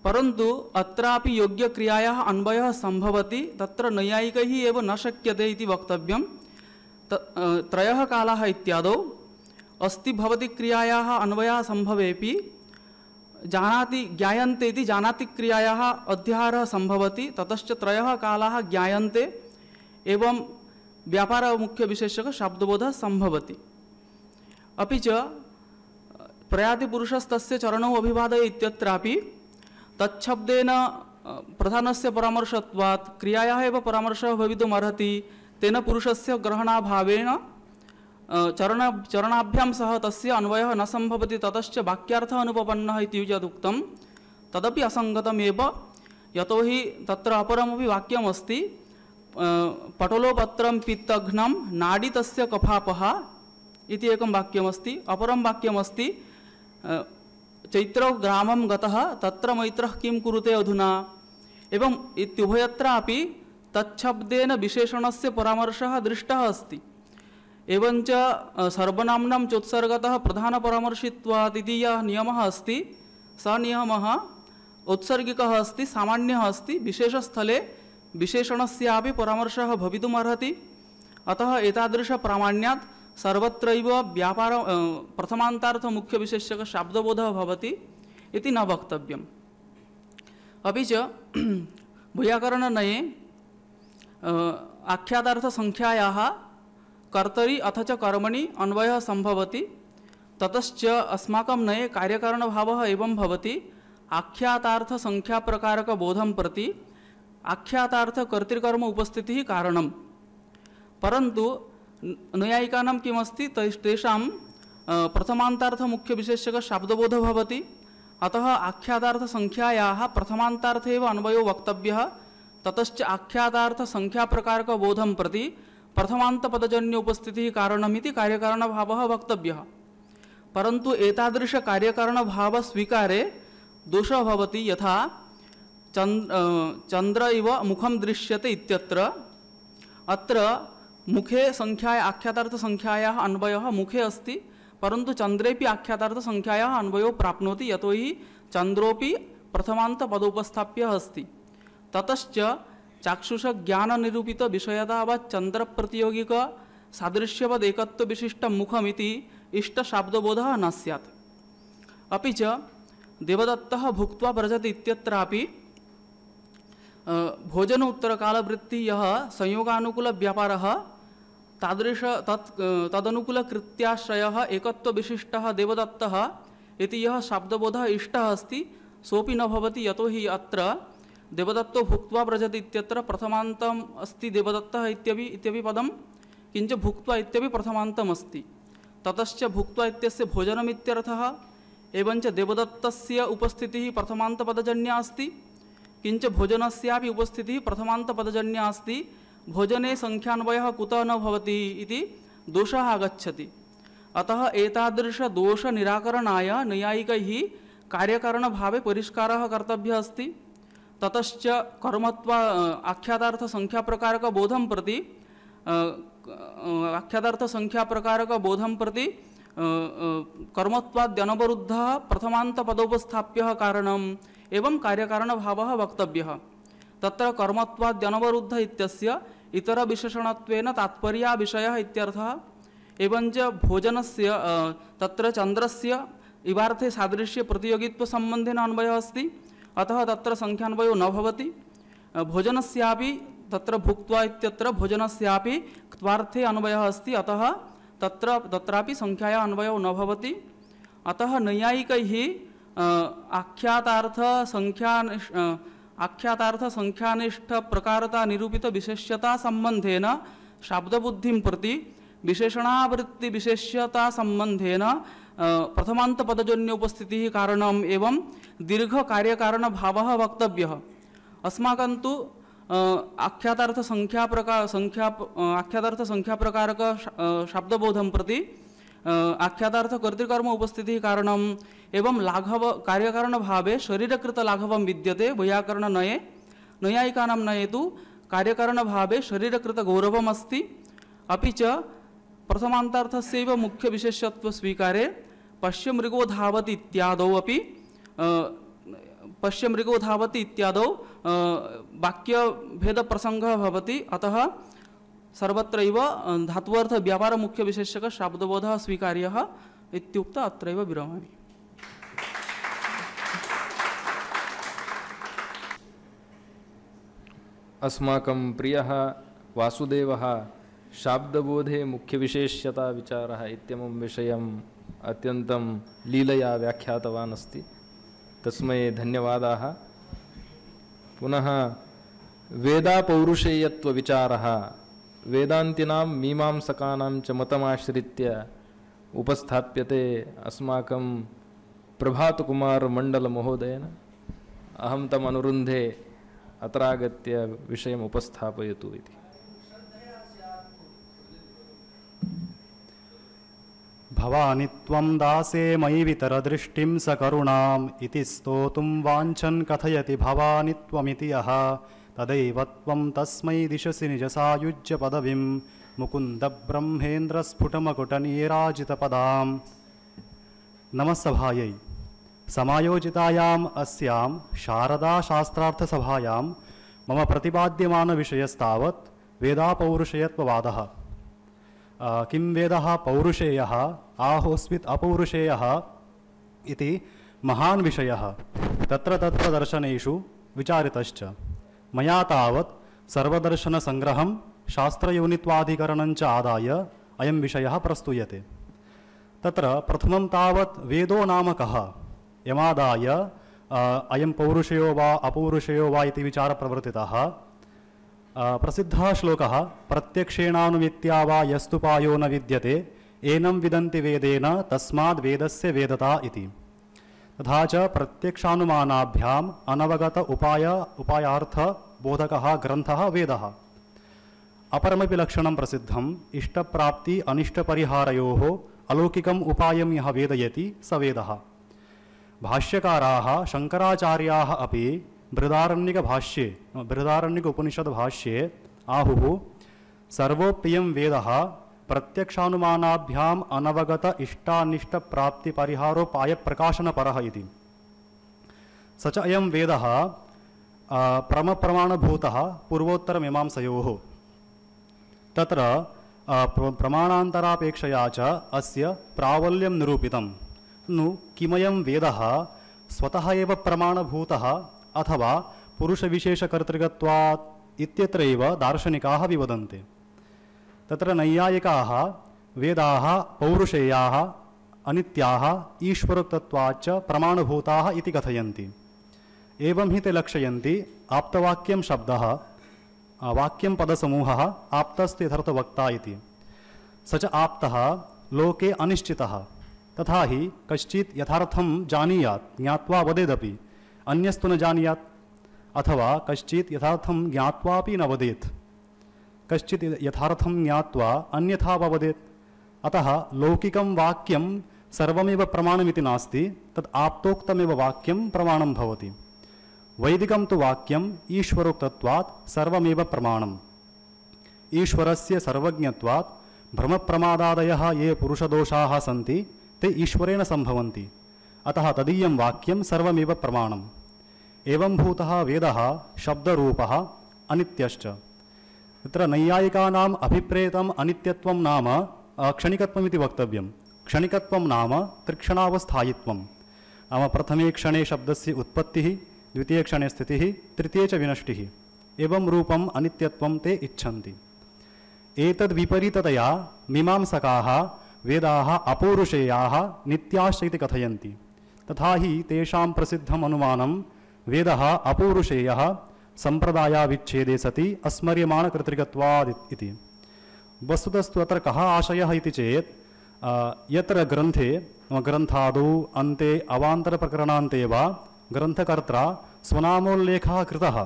परन्तु अत्रापि योग्यक्रियायाः अन्वयः सम्भवति। तत्र नैयायिकैः एव न शक्यते इति वक्तव्यं। त्रयः कालाः इत्यादौ अस्ति भवति क्रियायाः अन्वयः सम्भवेपि जानाति ज्ञायन्ते इति जानाति क्रियायाः अध्याहारः सम्भवति। ततश्च त्रयः कालाः ज्ञायन्ते एवं व्यापार मुख्य विशेषक शाब्दबोधः सम्भवति। अपि च प्रयाति पुरुषस्तस्य चरणौ अभिवादये इत्यत्रापि तच्छब्देन प्रधानस्य परामर्शत्वात् क्रियायाः एव परामर्शः भवितुमर्हति। तेन पुरुषस्य ग्रहणाभावेन चरणाभ्यां सह तस्य अन्वयः न सम्भवति। ततश्च वाक्यार्थः अनुपपन्नः इति यदुक्तं तदपि असङ्गतमेव। यतोहि तत्र अपरमपि वाक्यमस्ति पटलोपत्रं पित्तघ्नं नाडी तस्य कफापः इति एकं वाक्यमस्ति। अपरं वाक्यमस्ति चैत्रो ग्रामं गतः तत्र मैत्रः किं कुरुते अधुना। एवं इत्युभयत्रापि तच्छब्देन विशेषणस्य परामर्शः दृष्टः अस्ति। एवञ्च सर्वनाम्नां चोत्सर्गतः प्रधानपरामर्शित्वात् इति यः नियमः अस्ति सः नियमः औत्सर्गिकः अस्ति, सामान्यः अस्ति। विशेषस्थले विशेषणस्यापि परामर्शः भवितुमर्हति। अतः एतादृशप्रामाण्यात् सर्वत्रैव व्यापार प्रथमान्तार्थ मुख्य विशेषक शाब्दबोधः भवति इति न वक्तव्यम्। अपि च वैयाकरणनये आख्यातार्थसंख्यायाः कर्तरि अथ च कर्मणि अन्वयः सम्भवति। ततश्च अस्माकं नये कार्यकारणभावः एवं भवति आख्यातार्थसंख्याप्रकारकबोधं प्रति आख्यातार्थकर्तृकर्म उपस्थितिः कारणं। परन्तु नैयायिकानां किमस्ति तेषां प्रथमान्तार्थ मुख्य विशेषक शाब्दबोधः भवति। अतः आख्यातार्थसंख्यायाः प्रथमान्तार्थे एव अन्वयो वक्तव्यः। ततश्च आख्यातार्थसंख्याप्रकारकबोधं प्रति प्रथमान्तपदजन्य उपस्थितिः कारणमिति कार्यकारणभावः वक्तव्यः। परन्तु एतादृशकार्यकारणभावस्वीकारे दोषः भवति। यथा चन्द्र इव मुखं दृश्यते इत्यत्र अत्र मुखे संख्याया आख्यातार्थसंख्यायाः अन्वयः मुखे अस्ति, परन्तु चन्द्रेपि आख्यातार्थसंख्यायाः अन्वयो प्राप्नोति। यतोहि चन्द्रोपि प्रथमान्तपदोपस्थाप्यः अस्ति। ततश्च चाक्षुषज्ञाननिरूपितविषयतावत् चन्द्रप्रतियोगिक सादृश्यवद् एकत्वविशिष्टं मुखमिति इष्टशाब्दबोधः न स्यात्। अपि च देवदत्तः भुक्त्वा व्रजति इत्यत्रापि भोजन उत्तरकालवृत्ति यः संयोगानुकूलव्यापारः तदनुकूलकृत्याश्रयः एकत्वविशिष्टः देवदत्तः इति यः शाब्दबोधः इष्टः अस्ति सोऽपि न भवति, यतो हि अत्र देवदत्तो भुक्त्वा व्रजति इत्यत्र प्रथमान्तम् अस्ति देवदत्तः इत्यपि पदं, किञ्च भुक्त्वा इत्यपि प्रथमान्तम् अस्ति। ततश्च भुक्त्वा इत्यस्य भोजनमित्यर्थः, एवञ्च देवदत्तस्य उपस्थितिः प्रथमान्तपदजन्या अस्ति, किञ्च भोजनस्यापि उपस्थितिः प्रथमान्तपदजन्या अस्ति। भोजने संख्यान्वयः कुतः न भवति इति दोषः आगच्छति। अतः एतादृशदोषनिराकरणाय नैयायिकैः कार्यकारणभावे परिष्कारः कर्तव्यः अस्ति। ततश्च कर्मत्वा आख्यातार्थसंख्याप्रकारकबोधं प्रति कर्मत्वाद्यनवरुद्धः प्रथमान्तपदोपस्थाप्यः कारणम् एवं कार्यकारणभावः वक्तव्यः। तत्र कर्मत्वाद्यनवरुद्ध इत्यस्य इतरविशेषणत्वेन तात्पर्याविषयः इत्यर्थः। एवञ्च भोजनस्य तत्र चन्द्रस्य इवार्थे सादृश्य प्रतियोगित्वसम्बन्धेन अन्वयः अस्ति, अतः तत्र संख्यान्वयो न भवति। भोजनस्यापि तत्र भुक्त्वा इत्यत्र भोजनस्यापि क्त्वार्थे अन्वयः अस्ति, अतः तत्रापि संख्याया अन्वयो न भवति। अतः नैयायिकैः आख्यातार्थसंख्यानिष्ठ प्रकारता निरूपित विशेष्यता संबंधेन शाब्दबुद्धिं प्रति विशेषणावृत्ति विशेष्यता संबंधेन प्रथमान्तपदजन्योपस्थितिः कारणम् एवं दीर्घ कार्यकारणभावः वक्तव्यः। अस्माकं तु आख्यातार्थसंख्याप्रकारक शाब्दबोधं प्रति आख्यातार्थकर्तृकर्म उपस्थितिः कारणम् एवं लाघव कार्यकारणभावे शरीरकृतलाघवं विद्यते वैयाकरणनये। नैयायिकानां नये तु कार्यकारणभावे शरीरकृतगौरवम् अस्ति। अपि च प्रथमान्तार्थस्यैव मुख्यविशेषत्वस्वीकारे पश्यमृगो धावति इत्यादौ वाक्यभेदप्रसङ्गः भवति। अतः सर्वत्रैव धात्वर्थव्यापारमुख्यविशेषक शाब्दबोधः स्वीकार्यः इत्युक्त्वा अत्रैव विरमामि। अस्माकं प्रियः वासुदेवः शाब्दबोधे मुख्यविशेष्यता विचारः इत्यमुं विषयम् अत्यन्तं लीलया व्याख्यातवान् अस्ति। तस्मै धन्यवादाः। पुनः वेदापौरुषेयत्वविचारः वेदान्तिनां मीमांसकानां च मतमाश्रित्य उपस्थाप्यते अस्माकं प्रभातकुमारमण्डलमहोदयेन। अहं तम् अनुरुन्धे अत्रागत्य विषयम् उपस्थापयतु इति। भवानि त्वं दासे मयि वितरदृष्टिं सकरुणाम् इति स्तोतुं वाञ्छन् कथयति भवानि त्वमिति यः तदैव त्वं तस्मै दिशसि निजसायुज्यपदवीं मुकुन्दब्रह्मेन्द्रस्फुटमकुटनीराजितपदाम्। नमस्सभायै समायोजितायाम् अस्यां शारदाशास्त्रार्थसभायां मम प्रतिपाद्यमानविषयस्तावत् वेदापौरुषेयत्ववादः। किं वेदः पौरुषेयः आहोस्वित् अपौरुषेयः इति महान् विषयः तत्र दर्शनेषु विचारितश्च। मया तावत् सर्वदर्शनसंग्रहं शास्त्रयोनित्वाधिकरणञ्च आदाय अयं विषयः प्रस्तूयते। तत्र प्रथमं तावत् वेदो नाम कः यमादाय अयं पौरुषेयो वा अपौरुषेयो वा इति विचारः प्रवर्तितः। प्रसिद्धः श्लोकः प्रत्यक्षेणानुमित्या वा यस्तुपायो न विद्यते एनं विदन्ति वेदेन तस्माद् वेदस्य वेदता इति। तथा च प्रत्यक्षानुमानाभ्याम् अनवगत उपायार्थ बोधकः ग्रन्थः वेदः। अपरमपि लक्षणं प्रसिद्धम् इष्टप्राप्ति अनिष्टपरिहारयोः अलौकिकम् उपायं यः वेदयति स वेदः। भाष्यकाराः शङ्कराचार्याः अपि बृहदारण्यक उपनिषद्भाष्ये आहुः सर्वोप्रियं वेदः प्रत्यक्षानुमानाभ्याम् अनवगत इष्टानिष्टप्राप्तिपरिहारोपायप्रकाशनपरः इति। स च अयं वेदः प्रमप्रमाणभूतः पूर्वोत्तरमीमांसयोः। तत्र प्रमाणान्तरापेक्षया च अस्य प्राबल्यं निरूपितं। नु किमयं वेदः स्वतः एव प्रमाणभूतः अथवा पुरुषविशेषकर्तृकत्वात् इत्यत्रैव दार्शनिकाः विवदन्ते। तत्र नैयायिकाः वेदाः पौरुषेयाः अनित्याः ईश्वरोक्तत्वाच्च प्रमाणभूताः इति कथयन्ति। एवं हि ते लक्षयन्ति आप्तवाक्यं शब्दः वाक्यं पदसमूहः आप्तस्त्यथर्थवक्ता इति। स च आप्तः लोके अनिश्चितः, तथा हि कश्चित् यथार्थं जानीयात् ज्ञात्वा वदेदपि अन्यस्तु न जानीयात्, अथवा कश्चित् यथार्थं ज्ञात्वापि न वदेत्, कश्चित् यथार्थं ज्ञात्वा अन्यथा वदेत्। अतः लौकिकं वाक्यं सर्वमेव प्रमाणमिति नास्ति, तत् आप्तोक्तमेव वाक्यं प्रमाणं भवति। वैदिकं तु वाक्यम् ईश्वरोक्तत्वात् सर्वमेव प्रमाणम्। ईश्वरस्य सर्वज्ञत्वात् भ्रमप्रमादादयः ये पुरुषदोषाः सन्ति ते ईश्वरेण सम्भवन्ति, अतः तदीयं वाक्यं सर्वमेव प्रमाणम्। एवं भूतः वेदः शब्दरूपः अनित्यश्च। तत्र नैयायिकानाम् अभिप्रेतम् अनित्यत्वं नाम क्षणिकत्वमिति वक्तव्यं। क्षणिकत्वं नाम त्रिक्षणावस्थायित्वं, नाम प्रथमे क्षणे शब्दस्य उत्पत्तिः, द्वितीये क्षणे स्थितिः, तृतीये च विनष्टिः। एवं रूपम् अनित्यत्वं ते इच्छन्ति। एतद्विपरीततया मीमांसकाः वेदाः अपौरुषेयाः नित्याश्च इति कथयन्ति। तथा हि तेषां प्रसिद्धम् अनुमानं वेदः अपौरुषेयः सम्प्रदायाविच्छेदे सति अस्मर्यमाणकर्तृकत्वात् इति। वस्तुतस्तु अत्र कः आशयः इति चेत् यत्र ग्रन्थे ग्रन्थादौ अन्ते अवान्तरप्रकरणान्ते वा ग्रन्थकर्त्रा स्वनामोल्लेखः कृतः,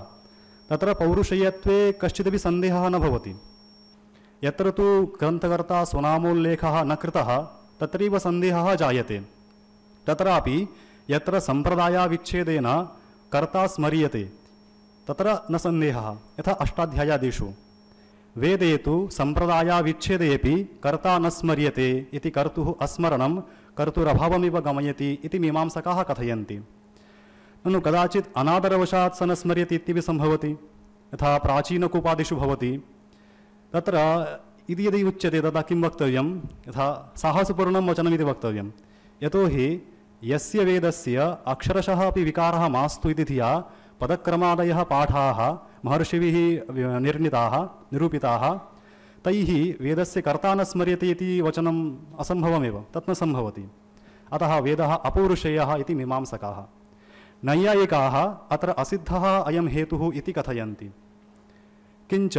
तत्र पौरुषेयत्वे कश्चिदपि सन्देहः न भवति। यत्र तु ग्रन्थकर्ता स्वनामोल्लेखः न कृतः तत्रैव सन्देहः जायते। तत्रापि यत्र सम्प्रदायाविच्छेदेन कर्ता स्मर्यते तत्र न सन्देहः, यथा अष्टाध्यायादिषु। वेदे तु सम्प्रदायाविच्छेदेपि कर्ता न स्मर्यते इति कर्तुः अस्मरणं कर्तुरभावमिव गमयति इति मीमांसकाः कथयन्ति। ननु कदाचित् अनादरवशात् स न स्मर्यति इत्यपि सम्भवति, यथा प्राचीनकूपादिषु भवति। तत्र इति यदि उच्यते तदा किं वक्तव्यं, यथा साहसपूर्णं वचनमिति वक्तव्यं। यतोहि यस्य वेदस्य अक्षरशः अपि विकारः मास्तु इति धिया पदक्रमादयः पाठाः महर्षिभिः निर्णीताः निरूपिताः, तैः वेदस्य कर्ता न स्मर्यते इति वचनम् असम्भवमेव, तत् न सम्भवति। अतः वेदः अपौरुषेयः इति मीमांसकाः। नैयायिकाः अत्र असिद्धः अयं हेतुः इति कथयन्ति। किञ्च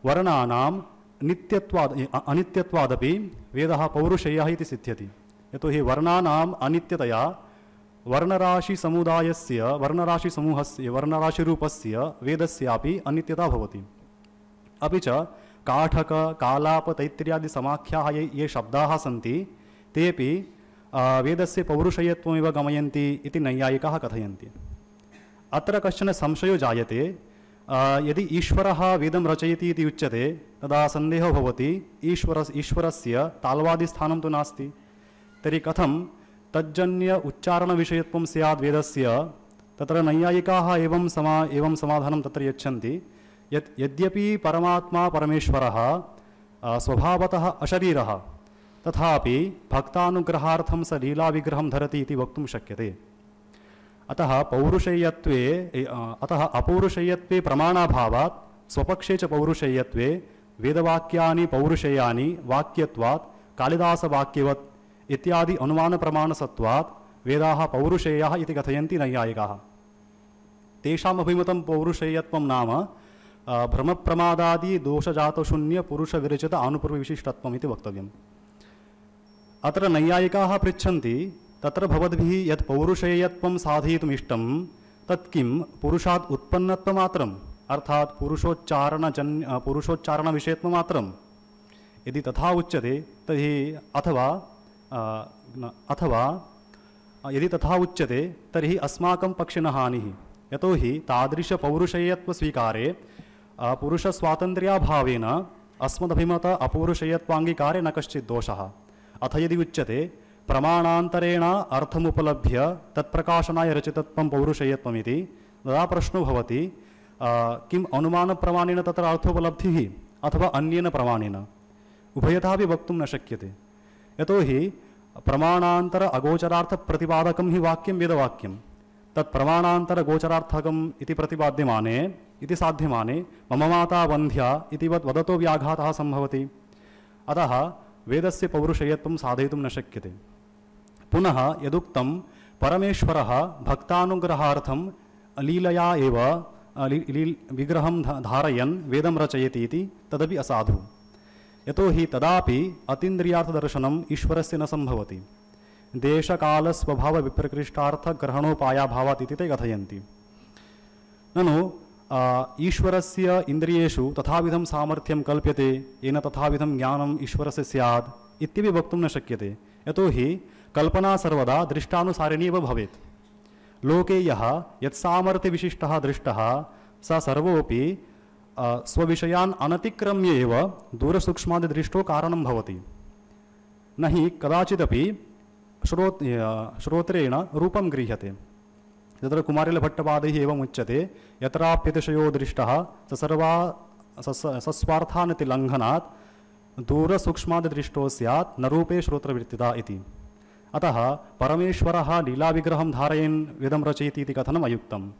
वर्णानां अनित्यत्वादपि वेदः पौरुषेयः इति सिद्ध्यति। यतोहि वर्णानाम् अनित्यतया वर्णराशिसमुदायस्य वर्णराशिसमूहस्य वर्णराशिरूपस्य वेदस्यापि अनित्यता भवति। अपि च काठक कालाप तैत्तिर्यादि समाख्याः ये शब्दाः सन्ति तेपि वेदस्य पौरुषेयत्वमेव गमयन्ति इति नैयायिकाः कथयन्ति। अत्र कश्चन संशयो जायते, यदि ईश्वरः वेदं रचयति इति उच्यते तदा सन्देहो भवति ईश्वरस्य ताल्वादिस्थानं तु नास्ति, तर्हि कथं तज्जन्य उच्चारणविषयत्वं स्यात् वेदस्य। तत्र नैयायिकाः एवं समाधानं तत्र यच्छन्ति यत् यद्यपि परमात्मा परमेश्वरः स्वभावतः अशरीरः, तथापि भक्तानुग्रहार्थं स लीलाविग्रहं धरति इति वक्तुं शक्यते। अतः अपौरुषेयत्वे प्रमाणाभावात् स्वपक्षे च पौरुषेयत्वे वेदवाक्यानि पौरुषेयानि वाक्यत्वात् कालिदासवाक्यवत् इत्यादि अनुमानप्रमाणसत्वात् वेदाः पौरुषेयाः इति कथयन्ति नैयायिकाः। तेषाम् अभिमतं पौरुषेयत्वं नाम भ्रमप्रमादादि दोषजातशून्य पुरुषविरचित आनुपूर्वविशिष्टत्वम् इति वक्तव्यम्। अत्र नैयायिकाः पृच्छन्ति, तत्र भवद्भिः यत् पौरुषेयत्वं साधयितुम् इष्टं तत् किं पुरुषात् उत्पन्नत्वमात्रम्, अर्थात् पुरुषोच्चारणविषयत्वमात्रम्? यदि तथा उच्यते तर्हि अथवा यदि तथा उच्यते तर्हि अस्माकं पक्षे न हानिः। यतोहि तादृशपौरुषेयत्वस्वीकारे पुरुषस्वातन्त्र्याभावेन अस्मदभिमत अपौरुषेयत्वाङ्गीकारे न कश्चित् दोषः। अथ यदि उच्यते प्रमाणान्तरेण अर्थमुपलभ्य तत्प्रकाशनाय रचितत्वं पौरुषेयत्वमिति, तदा प्रश्नो भवति किम् अनुमानप्रमाणेन तत्र अर्थोपलब्धिः अथवा अन्येन प्रमाणेन? उभयथापि वक्तुं न शक्यते। यतोहि प्रमाणान्तर अगोचरार्थप्रतिपादकं हि वाक्यं वेदवाक्यं। तत् प्रमाणान्तरगोचरार्थकम् इति प्रतिपाद्यमाने इति साध्यमाने मम माता वन्ध्या इति वदतो व्याघातः सम्भवति। अतः वेदस्य पौरुषेयत्वं साधयितुं न शक्यते। पुनः यदुक्तं परमेश्वरः भक्तानुग्रहार्थं लीलया एव विग्रहं धारयन् वेदं रचयति इति तदपि असाधु। यतोहि तदापि अतीन्द्रियार्थदर्शनम् ईश्वरस्य न सम्भवति। देशकालस्वभावविप्रकृष्टार्थग्रहणोपायाभावात् इति ते कथयन्ति। ननु ईश्वरस्य इन्द्रियेषु तथाविधं सामर्थ्यं कल्प्यते, येन तथाविधं ज्ञानम् ईश्वरस्य स्यात् इत्यपि वक्तुं न शक्यते। यतोहि कल्पना सर्वदा दृष्टानुसारिणी एव भवेत्। लोके यः यत्सामर्थ्यविशिष्टः दृष्टः स सर्वोऽपि स्वविषयान् अनतिक्रम्य एव दूरसूक्ष्मादिदृष्टो कारणं भवति। न हि कदाचिदपि श्रोत्रेण रूपं गृह्यते। तत्र कुमारिलभट्टपादैः एवम् उच्यते, यत्राप्यतिशयो दृष्टः सस्वार्थानिति लङ्घनात् दूरसूक्ष्मादिदृष्टो स्यात् न रूपे श्रोत्रवृत्तिता इति। अतः परमेश्वरः लीलाविग्रहं धारयन् वेदं रचयति इति कथनम् अयुक्तम्।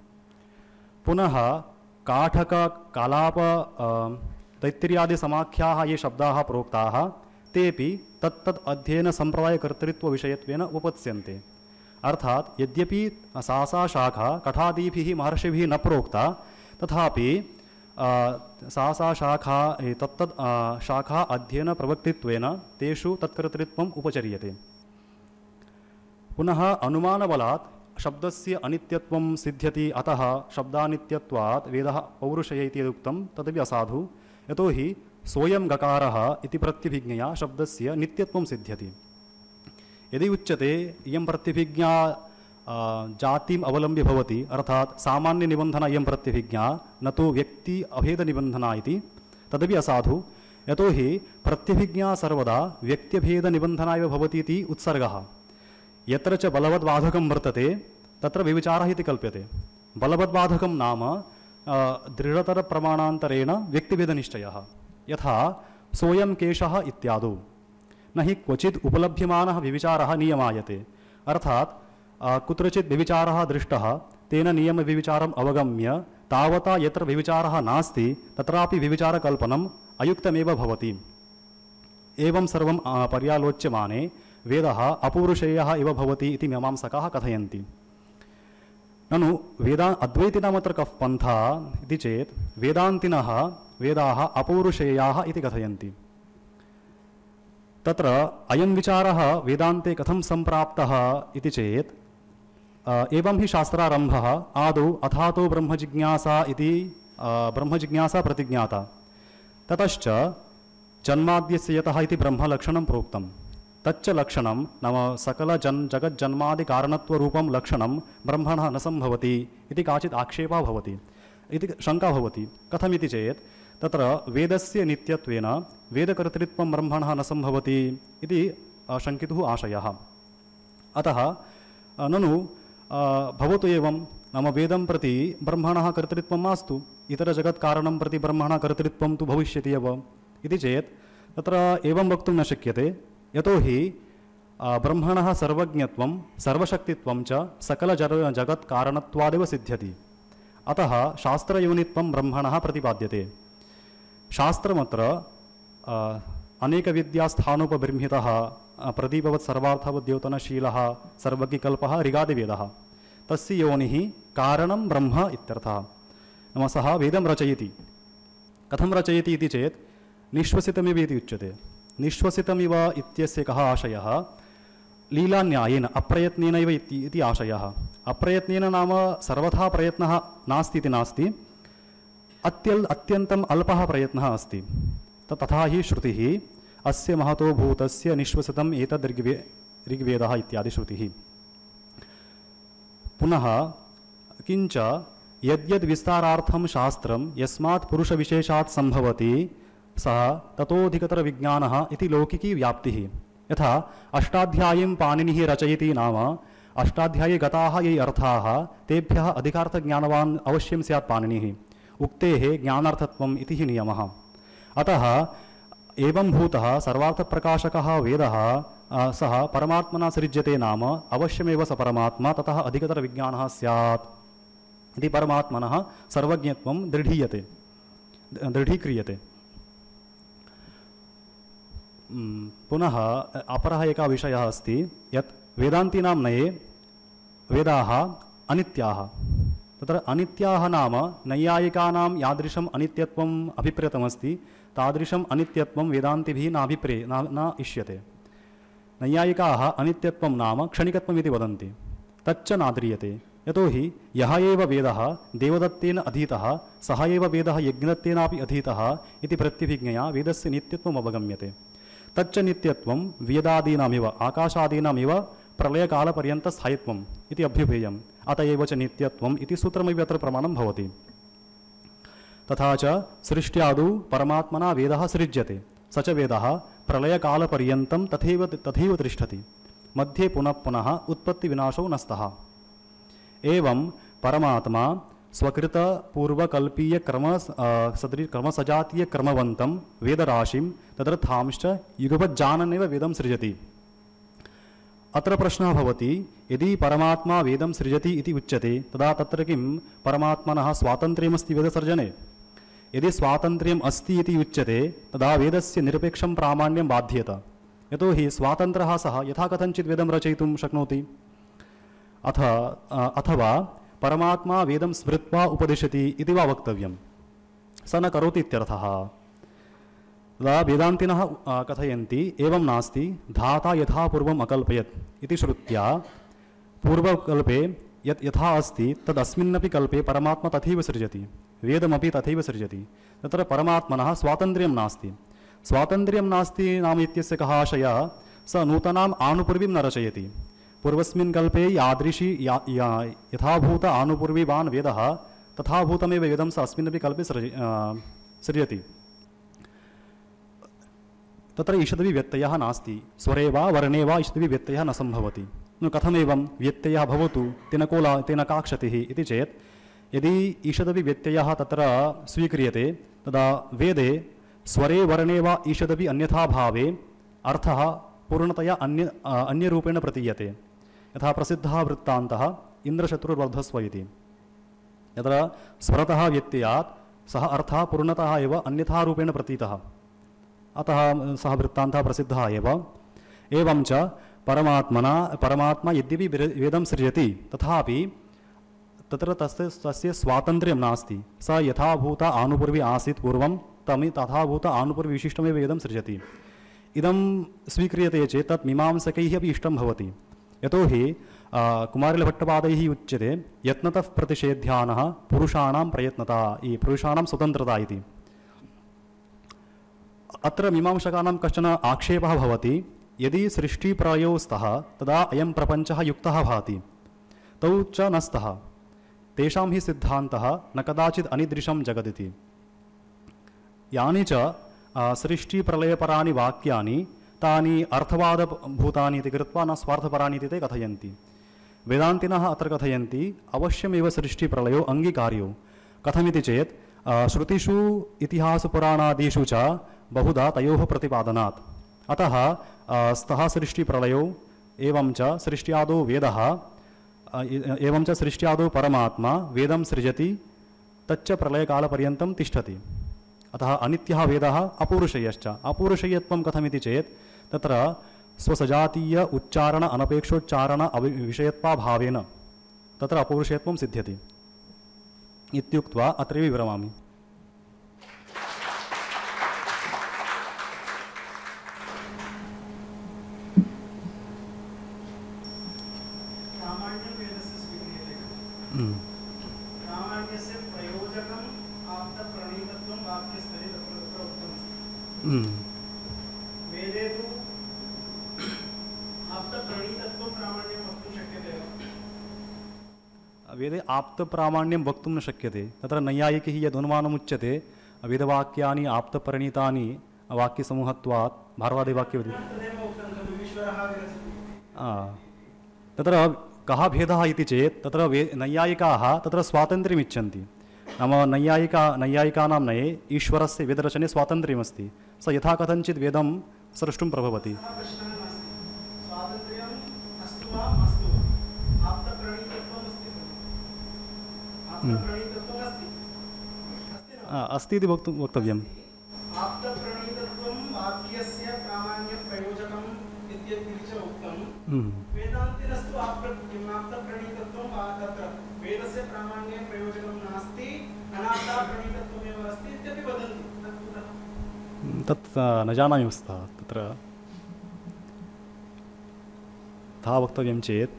पुनः काठक कालाप तैत्तिर्यादिसमाख्याः ये शब्दाः प्रोक्ताः तेपि तत्तद् अध्ययनसम्प्रदायकर्तृत्वविषयत्वेन उपपत्स्यन्ते। अर्थात् यद्यपि सा शाखा कठादिभिः महर्षिभिः न प्रोक्ता, तथापि सा शाखा तत्तद् शाखा अध्ययनप्रवक्तित्वेन तेषु तत्कर्तृत्वम् उपचर्यते। पुनः अनुमानबलात् शब्दस्य अनित्यत्वं सिद्ध्यति। अतः शब्दानित्यत्वात् वेदः पौरुषेय इति यदुक्तं तदपि असाधु। यतोहि सोऽयं गकारः इति प्रत्यभिज्ञया शब्दस्य नित्यत्वं सिद्ध्यति। यदि उच्यते इयं प्रत्यभिज्ञा जातिम् अवलम्ब्य भवति, अर्थात् सामान्यनिबन्धना इयं प्रत्यभिज्ञा न तु व्यक्ति अभेदनिबन्धना इति, तदपि असाधु। यतोहि प्रत्यभिज्ञा सर्वदा व्यक्त्यभेदनिबन्धना एव भवति इति उत्सर्गः। यत्र च बलवद्बाधकं वर्तते तत्र व्यभिचारः इति कल्प्यते। बलवद्बाधकं नाम दृढतरप्रमाणान्तरेण व्यक्तिभेदनिश्चयः, यथा सोऽयं केशः इत्यादौ। न हि क्वचित् उपलभ्यमानः व्यभिचारः नियमायते। अर्थात् कुत्रचित् व्यभिचारः दृष्टः, तेन नियमव्यभिचारम् अवगम्य तावता यत्र व्यभिचारः नास्ति तत्रापि व्यभिचारकल्पनम् अयुक्तमेव भवति। एवं सर्वं पर्यालोच्यमाने वेदः अपौरुषेयः इव भवति इति मीमांसकाः कथयन्ति। ननु अद्वैतिनाम् अत्र कः पन्था इति चेत् वेदान्तिनः वेदाः अपौरुषेयाः इति कथयन्ति। तत्र अयं विचारः वेदान्ते कथं सम्प्राप्तः इति चेत् एवं हि शास्त्रारम्भः आदौ अथातो ब्रह्मजिज्ञासा इति ब्रह्मजिज्ञासा प्रतिज्ञाता। ततश्च जन्माद्यस्य यतः इति ब्रह्मलक्षणं प्रोक्तं। तच्च लक्षणं नाम सकलजगज्जन्मादिकारणत्वरूपं लक्षणं ब्रह्मणः न सम्भवति इति काचित् आक्षेपः भवति, इति शङ्का भवति। कथमिति चेत् तत्र वेदस्य नित्यत्वेन वेदकर्तृत्वं ब्रह्मणः न सम्भवति इति शङ्कितुः आशयः। अतः ननु भवतु एवं, नाम वेदं प्रति ब्रह्मणः कर्तृत्वं मास्तु, इतरजगत्कारणं प्रति ब्रह्मणः कर्तृत्वं तु भविष्यति एव इति चेत् तत्र एवं वक्तुं न शक्यते। यतोहि ब्रह्मणः सर्वज्ञत्वं सर्वशक्तित्वं च सकलजगत्कारणत्वादेव सिद्ध्यति। अतः शास्त्रयोनित्वं ब्रह्मणः प्रतिपाद्यते। शास्त्रमत्र अनेकविद्यास्थानोपबृंहितः प्रदीपवत् सर्वार्थवद्योतनशीलः सर्वज्ञकल्पः ऋगादिवेदः, तस्य योनिः कारणं ब्रह्म इत्यर्थः। नाम सः वेदं रचयति। कथं रचयति इति चेत् निश्वसितमिव इति उच्यते। निश्वसितमिव इत्यस्य कः आशयः? लीलान्यायेन अप्रयत्नेनैव इति आशयः। अप्रयत्नेन नाम सर्वथा प्रयत्नः नास्ति इति नास्ति, अत्यन्तम् अल्पः प्रयत्नः अस्ति। तथा हि श्रुतिः अस्य महतो भूतस्य निश्वसितम् एतद् ऋग्वेदः इत्यादि श्रुतिः। पुनः किञ्च यद्यद् विस्तारार्थं शास्त्रं यस्मात् पुरुषविशेषात् सम्भवति सः ततोऽधिकतरविज्ञानः इति लौकिकी व्याप्तिः। यथा अष्टाध्यायीं पाणिनिः रचयति नाम अष्टाध्यायी गताः ये अर्थाः तेभ्यः अधिकार्थज्ञानवान् अवश्यं स्यात् पाणिनिः। उक्तेः ज्ञानार्थत्वम् इति हि नियमः। अतः एवं भूतः सर्वार्थप्रकाशकः वेदः सः परमात्मना सृज्यते नाम अवश्यमेव स परमात्मा ततः अधिकतरविज्ञानः स्यात् इति परमात्मनः सर्वज्ञत्वं दृढीक्रियते। पुनः अपरः एकः विषयः अस्ति यत् वेदान्तीनां नये वेदाः अनित्याः। तत्र अनित्याः नाम नैयायिकानां यादृशम् अनित्यत्वम् अभिप्रेतमस्ति तादृशम् अनित्यत्वं वेदान्तिभिः न इष्यते। नैयायिकाः अनित्यत्वं नाम क्षणिकत्वम् इति वदन्ति, तच्च नाद्रियते। यतोहि यः एव वेदः देवदत्तेन अधीतः सः एव वेदः यज्ञदत्तेनापि अधीतः इति प्रत्यभिज्ञया वेदस्य नित्यत्वम् अवगम्यते। तच्च नित्यत्वं वेदादीनामिव आकाशादीनामिव प्रलयकालपर्यन्तस्थायित्वम् इति अभ्युपेयम्। अत एव च नित्यत्वम् इति सूत्रमिव अत्र प्रमाणं भवति। तथा च सृष्ट्यादौ परमात्मना वेदः सृज्यते, स च वेदः प्रलयकालपर्यन्तं तथैव तिष्ठति, मध्ये पुनः पुनः उत्पत्तिविनाशो न स्तः। एवं परमात्मा स्वकृतपूर्वकल्पीयक्रमसजातीयक्रमवन्तं वेदराशिं तदर्थांश्च युगपज्जाननेव वेदं सृजति। अत्र प्रश्नः भवति, यदि परमात्मा वेदं सृजति इति उच्यते तदा तत्र किं परमात्मनः स्वातन्त्र्यमस्ति वेदसर्जने? यदि स्वातन्त्र्यम् अस्ति इति उच्यते तदा वेदस्य निरपेक्षं प्रामाण्यं बाध्येत। यतोहि स्वातन्त्र्यः सः यथा कथञ्चित् वेदं रचयितुं शक्नोति। अथवा परमात्मा वेदं स्मृत्वा उपदिशति इति वा वक्तव्यं, स न करोति इत्यर्थः। तदा वेदान्तिनः कथयन्ति एवं नास्ति, धाता यथा पूर्वम् अकल्पयत् इति श्रुत्या पूर्वकल्पे यत् यथा अस्ति तदस्मिन्नपि कल्पे परमात्मा तथैव सृजति, वेदमपि तथैव सृजति। तत्र परमात्मनः स्वातन्त्र्यं नास्ति। स्वातन्त्र्यं नास्ति नाम इत्यस्य कः आशयः? स नूतनाम् आनुपूर्वीं न रचयति। पूर्वस्मिन् कल्पे यादृशी यथाभूत आनुपूर्वीवान् वेदः तथाभूतमेव वेदं स अस्मिन्नपि कल्पे सृजति। तत्र ईषदपि व्यत्ययः नास्ति, स्वरे वा वर्णे वा ईषदपि व्यत्ययः न सम्भवति। कथमेवं व्यत्ययः भवतु तेन का क्षतिः इति चेत् यदि ईषदपि व्यत्ययः तत्र स्वीक्रियते तदा वेदे स्वरे वर्णे वा ईषदपि अन्यथा भावे अर्थः पूर्णतया अन्यरूपेण प्रतीयते। यथा प्रसिद्धः वृत्तान्तः इन्द्रशत्रुर्वर्धस्व इति। यत्र स्वरतः व्यत्ययात् सः अर्थः पूर्णतः एव अन्यथा रूपेण प्रतीतः, अतः सः वृत्तान्तः प्रसिद्धः एव। एवं च परमात्मा यद्यपि वेदं सृजति तथापि तत्र तस्य स्वातन्त्र्यं नास्ति। स यथाभूत आनुपूर्वी आसीत् पूर्वं तथाभूत आनुपूर्वविशिष्टमेव वेदं सृजति। इदं स्वीक्रियते चेत् तत् मीमांसकैः अपि इष्टं भवति। यतोहि कुमारिलभट्टपादैः उच्यते यत्नतः प्रतिषेध्यानः पुरुषाणां प्रयत्नता, पुरुषाणां स्वतन्त्रता इति। अत्र मीमांसकानां कश्चन आक्षेपः भवति, यदि सृष्टिप्रलयौ स्तः तदा अयं प्रपञ्चः युक्तः भाति, तौ च न स्तः। तेषां हि सिद्धान्तः न कदाचित् अनिदृशं जगदिति। यानि च सृष्टिप्रलयपराणि वाक्यानि तानि अर्थवादभूतानि इति कृत्वा न स्वार्थपराणि इति ते कथयन्ति। वेदान्तिनः अत्र कथयन्ति अवश्यमेव सृष्टिप्रलयो अङ्गीकार्यो। कथमिति चेत् श्रुतिषु इतिहासपुराणादिषु च बहुधा तयोः प्रतिपादनात्। अतः स्तः सृष्टिप्रलयो एवं च सृष्ट्यादौ वेदः एवं च सृष्ट्यादौ परमात्मा वेदं सृजति, तच्च प्रलयकालपर्यन्तं तिष्ठति। अतः अनित्यः वेदः अपौरुषेयश्च। अपौरुषेयत्वं कथमिति चेत् तत्र स्वसजातीय उच्चारण अनपेक्षोच्चारण विषयत्वाभावेन तत्र अपौरुषेयत्वं सिद्ध्यति इत्युक्त्वा अत्रैव विरमामि। वेदे आप्तप्रामाण्यं वक्तुं न शक्यते। तत्र नैयायिकैः यदनुमानमुच्यते वेदवाक्यानि आप्तपरिणीतानि वाक्यसमूहत्वात् भारवादिवाक्यवति। तत्र कः भेदः इति चेत् तत्र नैयायिकाः तत्र स्वातन्त्र्यम् इच्छन्ति, नाम नैयायिकानां नये ईश्वरस्य वेदरचने स्वातन्त्र्यमस्ति, स यथा कथञ्चित् वेदं स्रष्टुं प्रभवति। अस्ति इति वक्तव्यम्। तत् न जानामि वस्तुतः तत्र तथा वक्तव्यं चेत्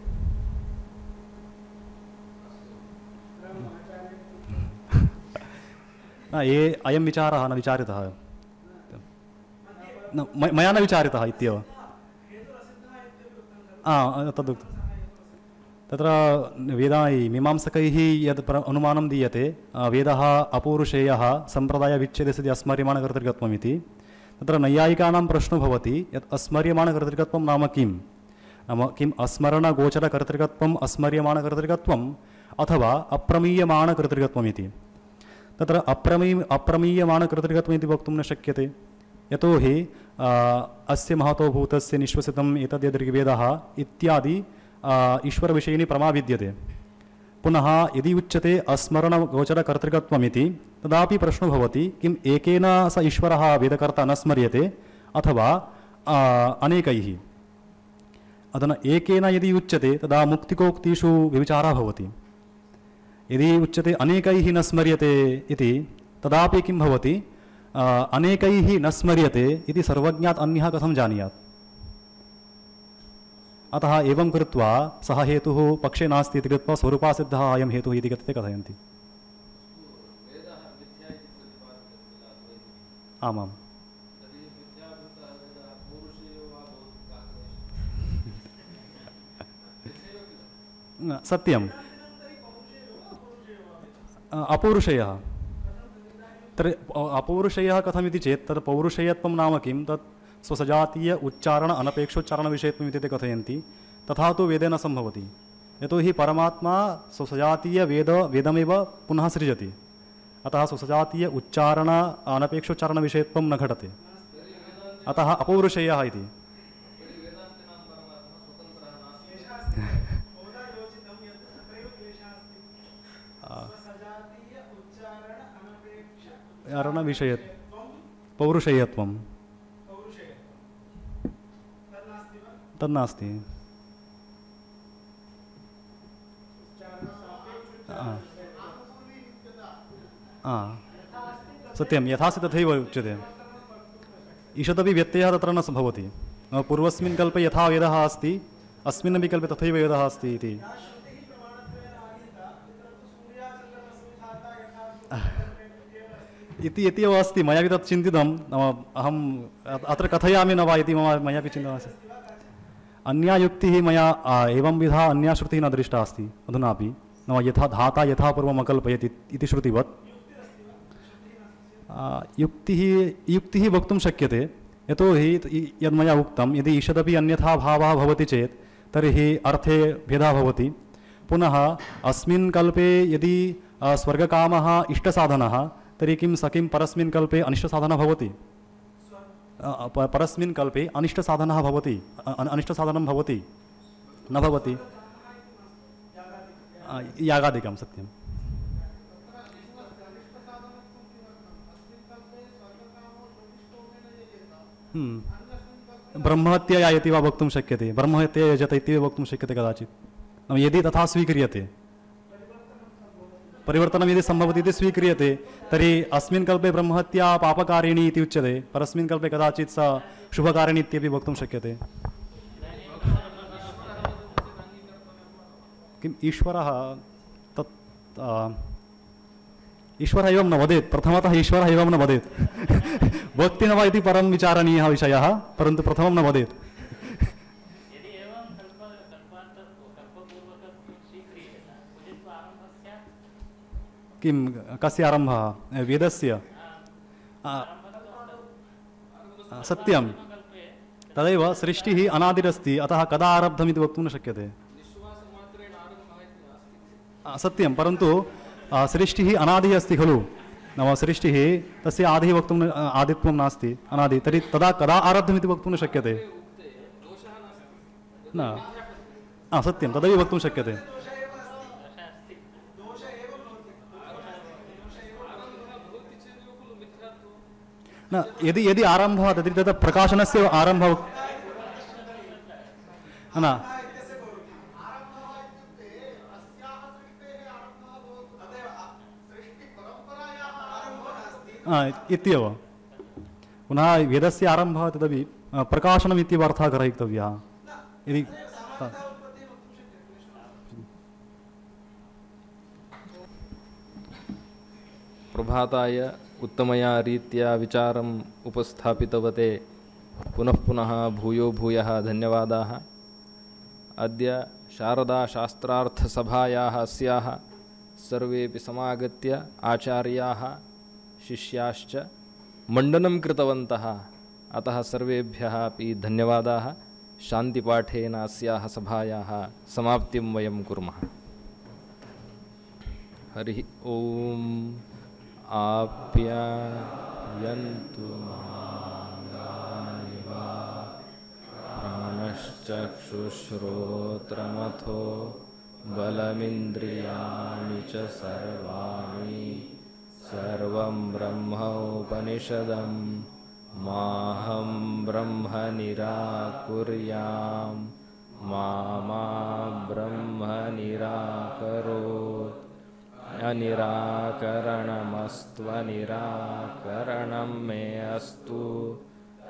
अयं विचारः न विचारितः, मया न विचारितः इत्येव। तदुक्तं तत्र मीमांसकैः यद् अनुमानं दीयते वेदः अपौरुषेयः सम्प्रदायविच्छेदस्य अस्मर्यमाणकर्तृकत्वम् इति, तत्र नैयायिकानां प्रश्नो भवति यत् अस्मर्यमाणकर्तृकत्वं नाम किं? नाम किम् अस्मरणगोचरकर्तृकत्वम् अस्मर्यमाणकर्तृकत्वम् अथवा अप्रमीयमाणकर्तृकत्वम् इति। तत्र अप्रमीयमाणकर्तृकत्वम् इति वक्तुं न शक्यते, यतोहि अस्य महतो भूतस्य निश्वसितम् एतद् ऋग्वेदः इत्यादि ईश्वरविषयिणी प्रमा विद्यते। पुनः यदि उच्यते अस्मरणगोचरकर्तृकत्वम् इति, तदापि प्रश्नो भवति किम् एकेन स ईश्वरः वेदकर्ता न स्मर्यते अथवा अनेकैः? अधुना एकेन यदि उच्यते तदा मुक्तिकोक्तिषु व्यभिचारः भवति। यदि उच्यते अनेकैः न स्मर्यते इति, तदापि किं भवति? अनेकैः न स्मर्यते इति सर्वज्ञात् अन्यः कथं जानीयात्? अतः एवं कृत्वा सः हेतुः पक्षे नास्ति इति कृत्वा स्वरूपासिद्धः अयं हेतुः इति कथ्यते कथयन्ति। आमाम् सत्यम् अपौरुषेयः। तर्हि अपौरुषेयः कथमिति चेत् तत् पौरुषेयत्वं नाम किं? तत् स्वसजातीय उच्चारण अनपेक्षोच्चारणविषयत्वम् इति ते कथयन्ति। तथा तु वेदे न सम्भवति, यतोहि परमात्मा वेदमेव पुनः सृजति, अतः स्वसजातीय उच्चारण अनपेक्षोच्चारणविषयत्वं न घटते, अतः अपौरुषेयः इति। पौरुषेयत्वं तन्नास्ति। सत्यं यथास्ति तथैव उच्यते। ईषदपि व्यत्ययः तत्र न भवति। पूर्वस्मिन् कल्पे यथा वेदः अस्ति अस्मिन्नपि कल्पे तथैव वेदः अस्ति इति। इत्येव अस्ति, मयापि तत् चिन्तितं। अहम् अत्र कथयामि न वा इति मयापि चिन्तितमासीत्। अन्या युक्तिः मया एवंविधा अन्या श्रुतिः न दृष्टा अस्ति अधुनापि। नाम यथा धाता यथा पूर्वम् अकल्पयति इति श्रुतिवत् युक्तिः वक्तुं शक्यते, यतोहि यद्मया उक्तं यदि ईषदपि अन्यथा भावः भवति चेत् तर्हि अर्थे भेदः भवति। पुनः अस्मिन् कल्पे यदि स्वर्गकामः इष्टसाधनः तर्हि किं स किं परस्मिन् कल्पे अनिष्टसाधनः भवति? परस्मिन् कल्पे अनिष्टसाधनः भवति, अनिष्टसाधनं भवति न भवति? यागादिकं सत्यं। ब्रह्महत्या इति वा वक्तुं शक्यते, ब्रह्महत्या यजत इति वक्तुं शक्यते कदाचित्। यदि तथा स्वीक्रियते, परिवर्तनं यदि सम्भवति इति स्वीक्रियते, तर्हि अस्मिन् कल्पे ब्रह्महत्या पापकारिणी इति उच्यते, परस्मिन् कल्पे कदाचित् सा शुभकारिणी इत्यपि वक्तुं शक्यते। किम् ईश्वरः तत् ईश्वरः एवं न वदेत्, प्रथमतः ईश्वरः एवं न वदेत्। भक्ति न वा इति परं विचारणीयः विषयः, परन्तु प्रथमं न वदेत्। किं कस्य आरम्भः? वेदस्य। सत्यं तदैव सृष्टिः अनादिरस्ति, अतः कदा आरब्धम् इति वक्तुं न शक्यते। सत्यं, परन्तु सृष्टिः अनादिः अस्ति खलु, नाम सृष्टिः तस्य आदिः वक्तुं आदित्वं नास्ति, अनादि, तर्हि तदा कदा आरब्धमिति वक्तुं न शक्यते न। सत्यं, तदपि वक्तुं शक्यते। न, यदि आरम्भः तर्हि तत् प्रकाशनस्य आरम्भः न इत्येव। पुनः वेदस्य आरम्भः तदपि प्रकाशनमित्येव अर्थः ग्रहीतव्यः। यदि प्रभाताय उत्तमया रीत्या विचारम् उपस्थापितवते पुनः पुनः भूयो भूयः धन्यवादाः। अद्य शारदाशास्त्रार्थसभायाः अस्याः सर्वेपि समागत्य आचार्याः शिष्याश्च मण्डनं कृतवन्तः, अतः सर्वेभ्यः अपि धन्यवादाः। शान्तिपाठेन अस्याः सभायाः समाप्तिं वयं कुर्मः। हरिः ओम्। आप्यायन्तु माङ्गानि वा प्राणश्चक्षुश्रोत्रमथो बलमिन्द्रियाणि च सर्वाणि सर्वं ब्रह्मोपनिषदं माहं ब्रह्म निराकुर्यां मा ब्रह्म निराकरोत्। अनिराकरणमस्त्वनिराकरणं मे अस्तु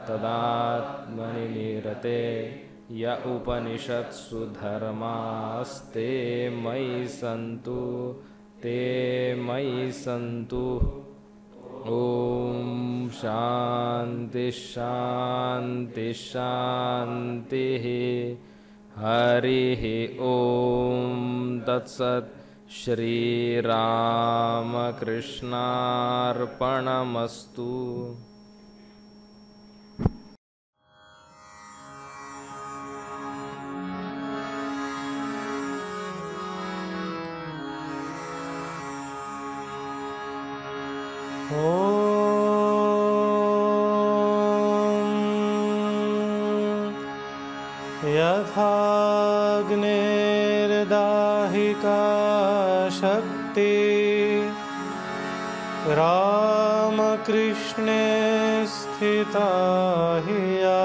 तदात्मनि निरते य उपनिषत्सु धर्मास्ते मयि सन्तु ते मयि सन्तु। ॐ शान्ति शान्ति शान्तिः। हरिः ॐ तत्सत्। श्रीरामकृष्णार्पणमस्तु। यथाग्नेर्दाहिका शक्ति रामकृष्णे स्थिता हि या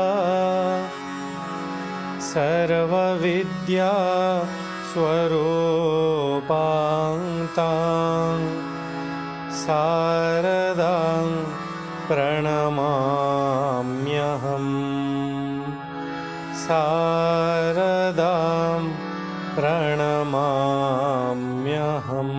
सर्वविद्या स्वरूपां शारदां प्रणमाम्यहम्। शारदां प्रणमाम्यहम्।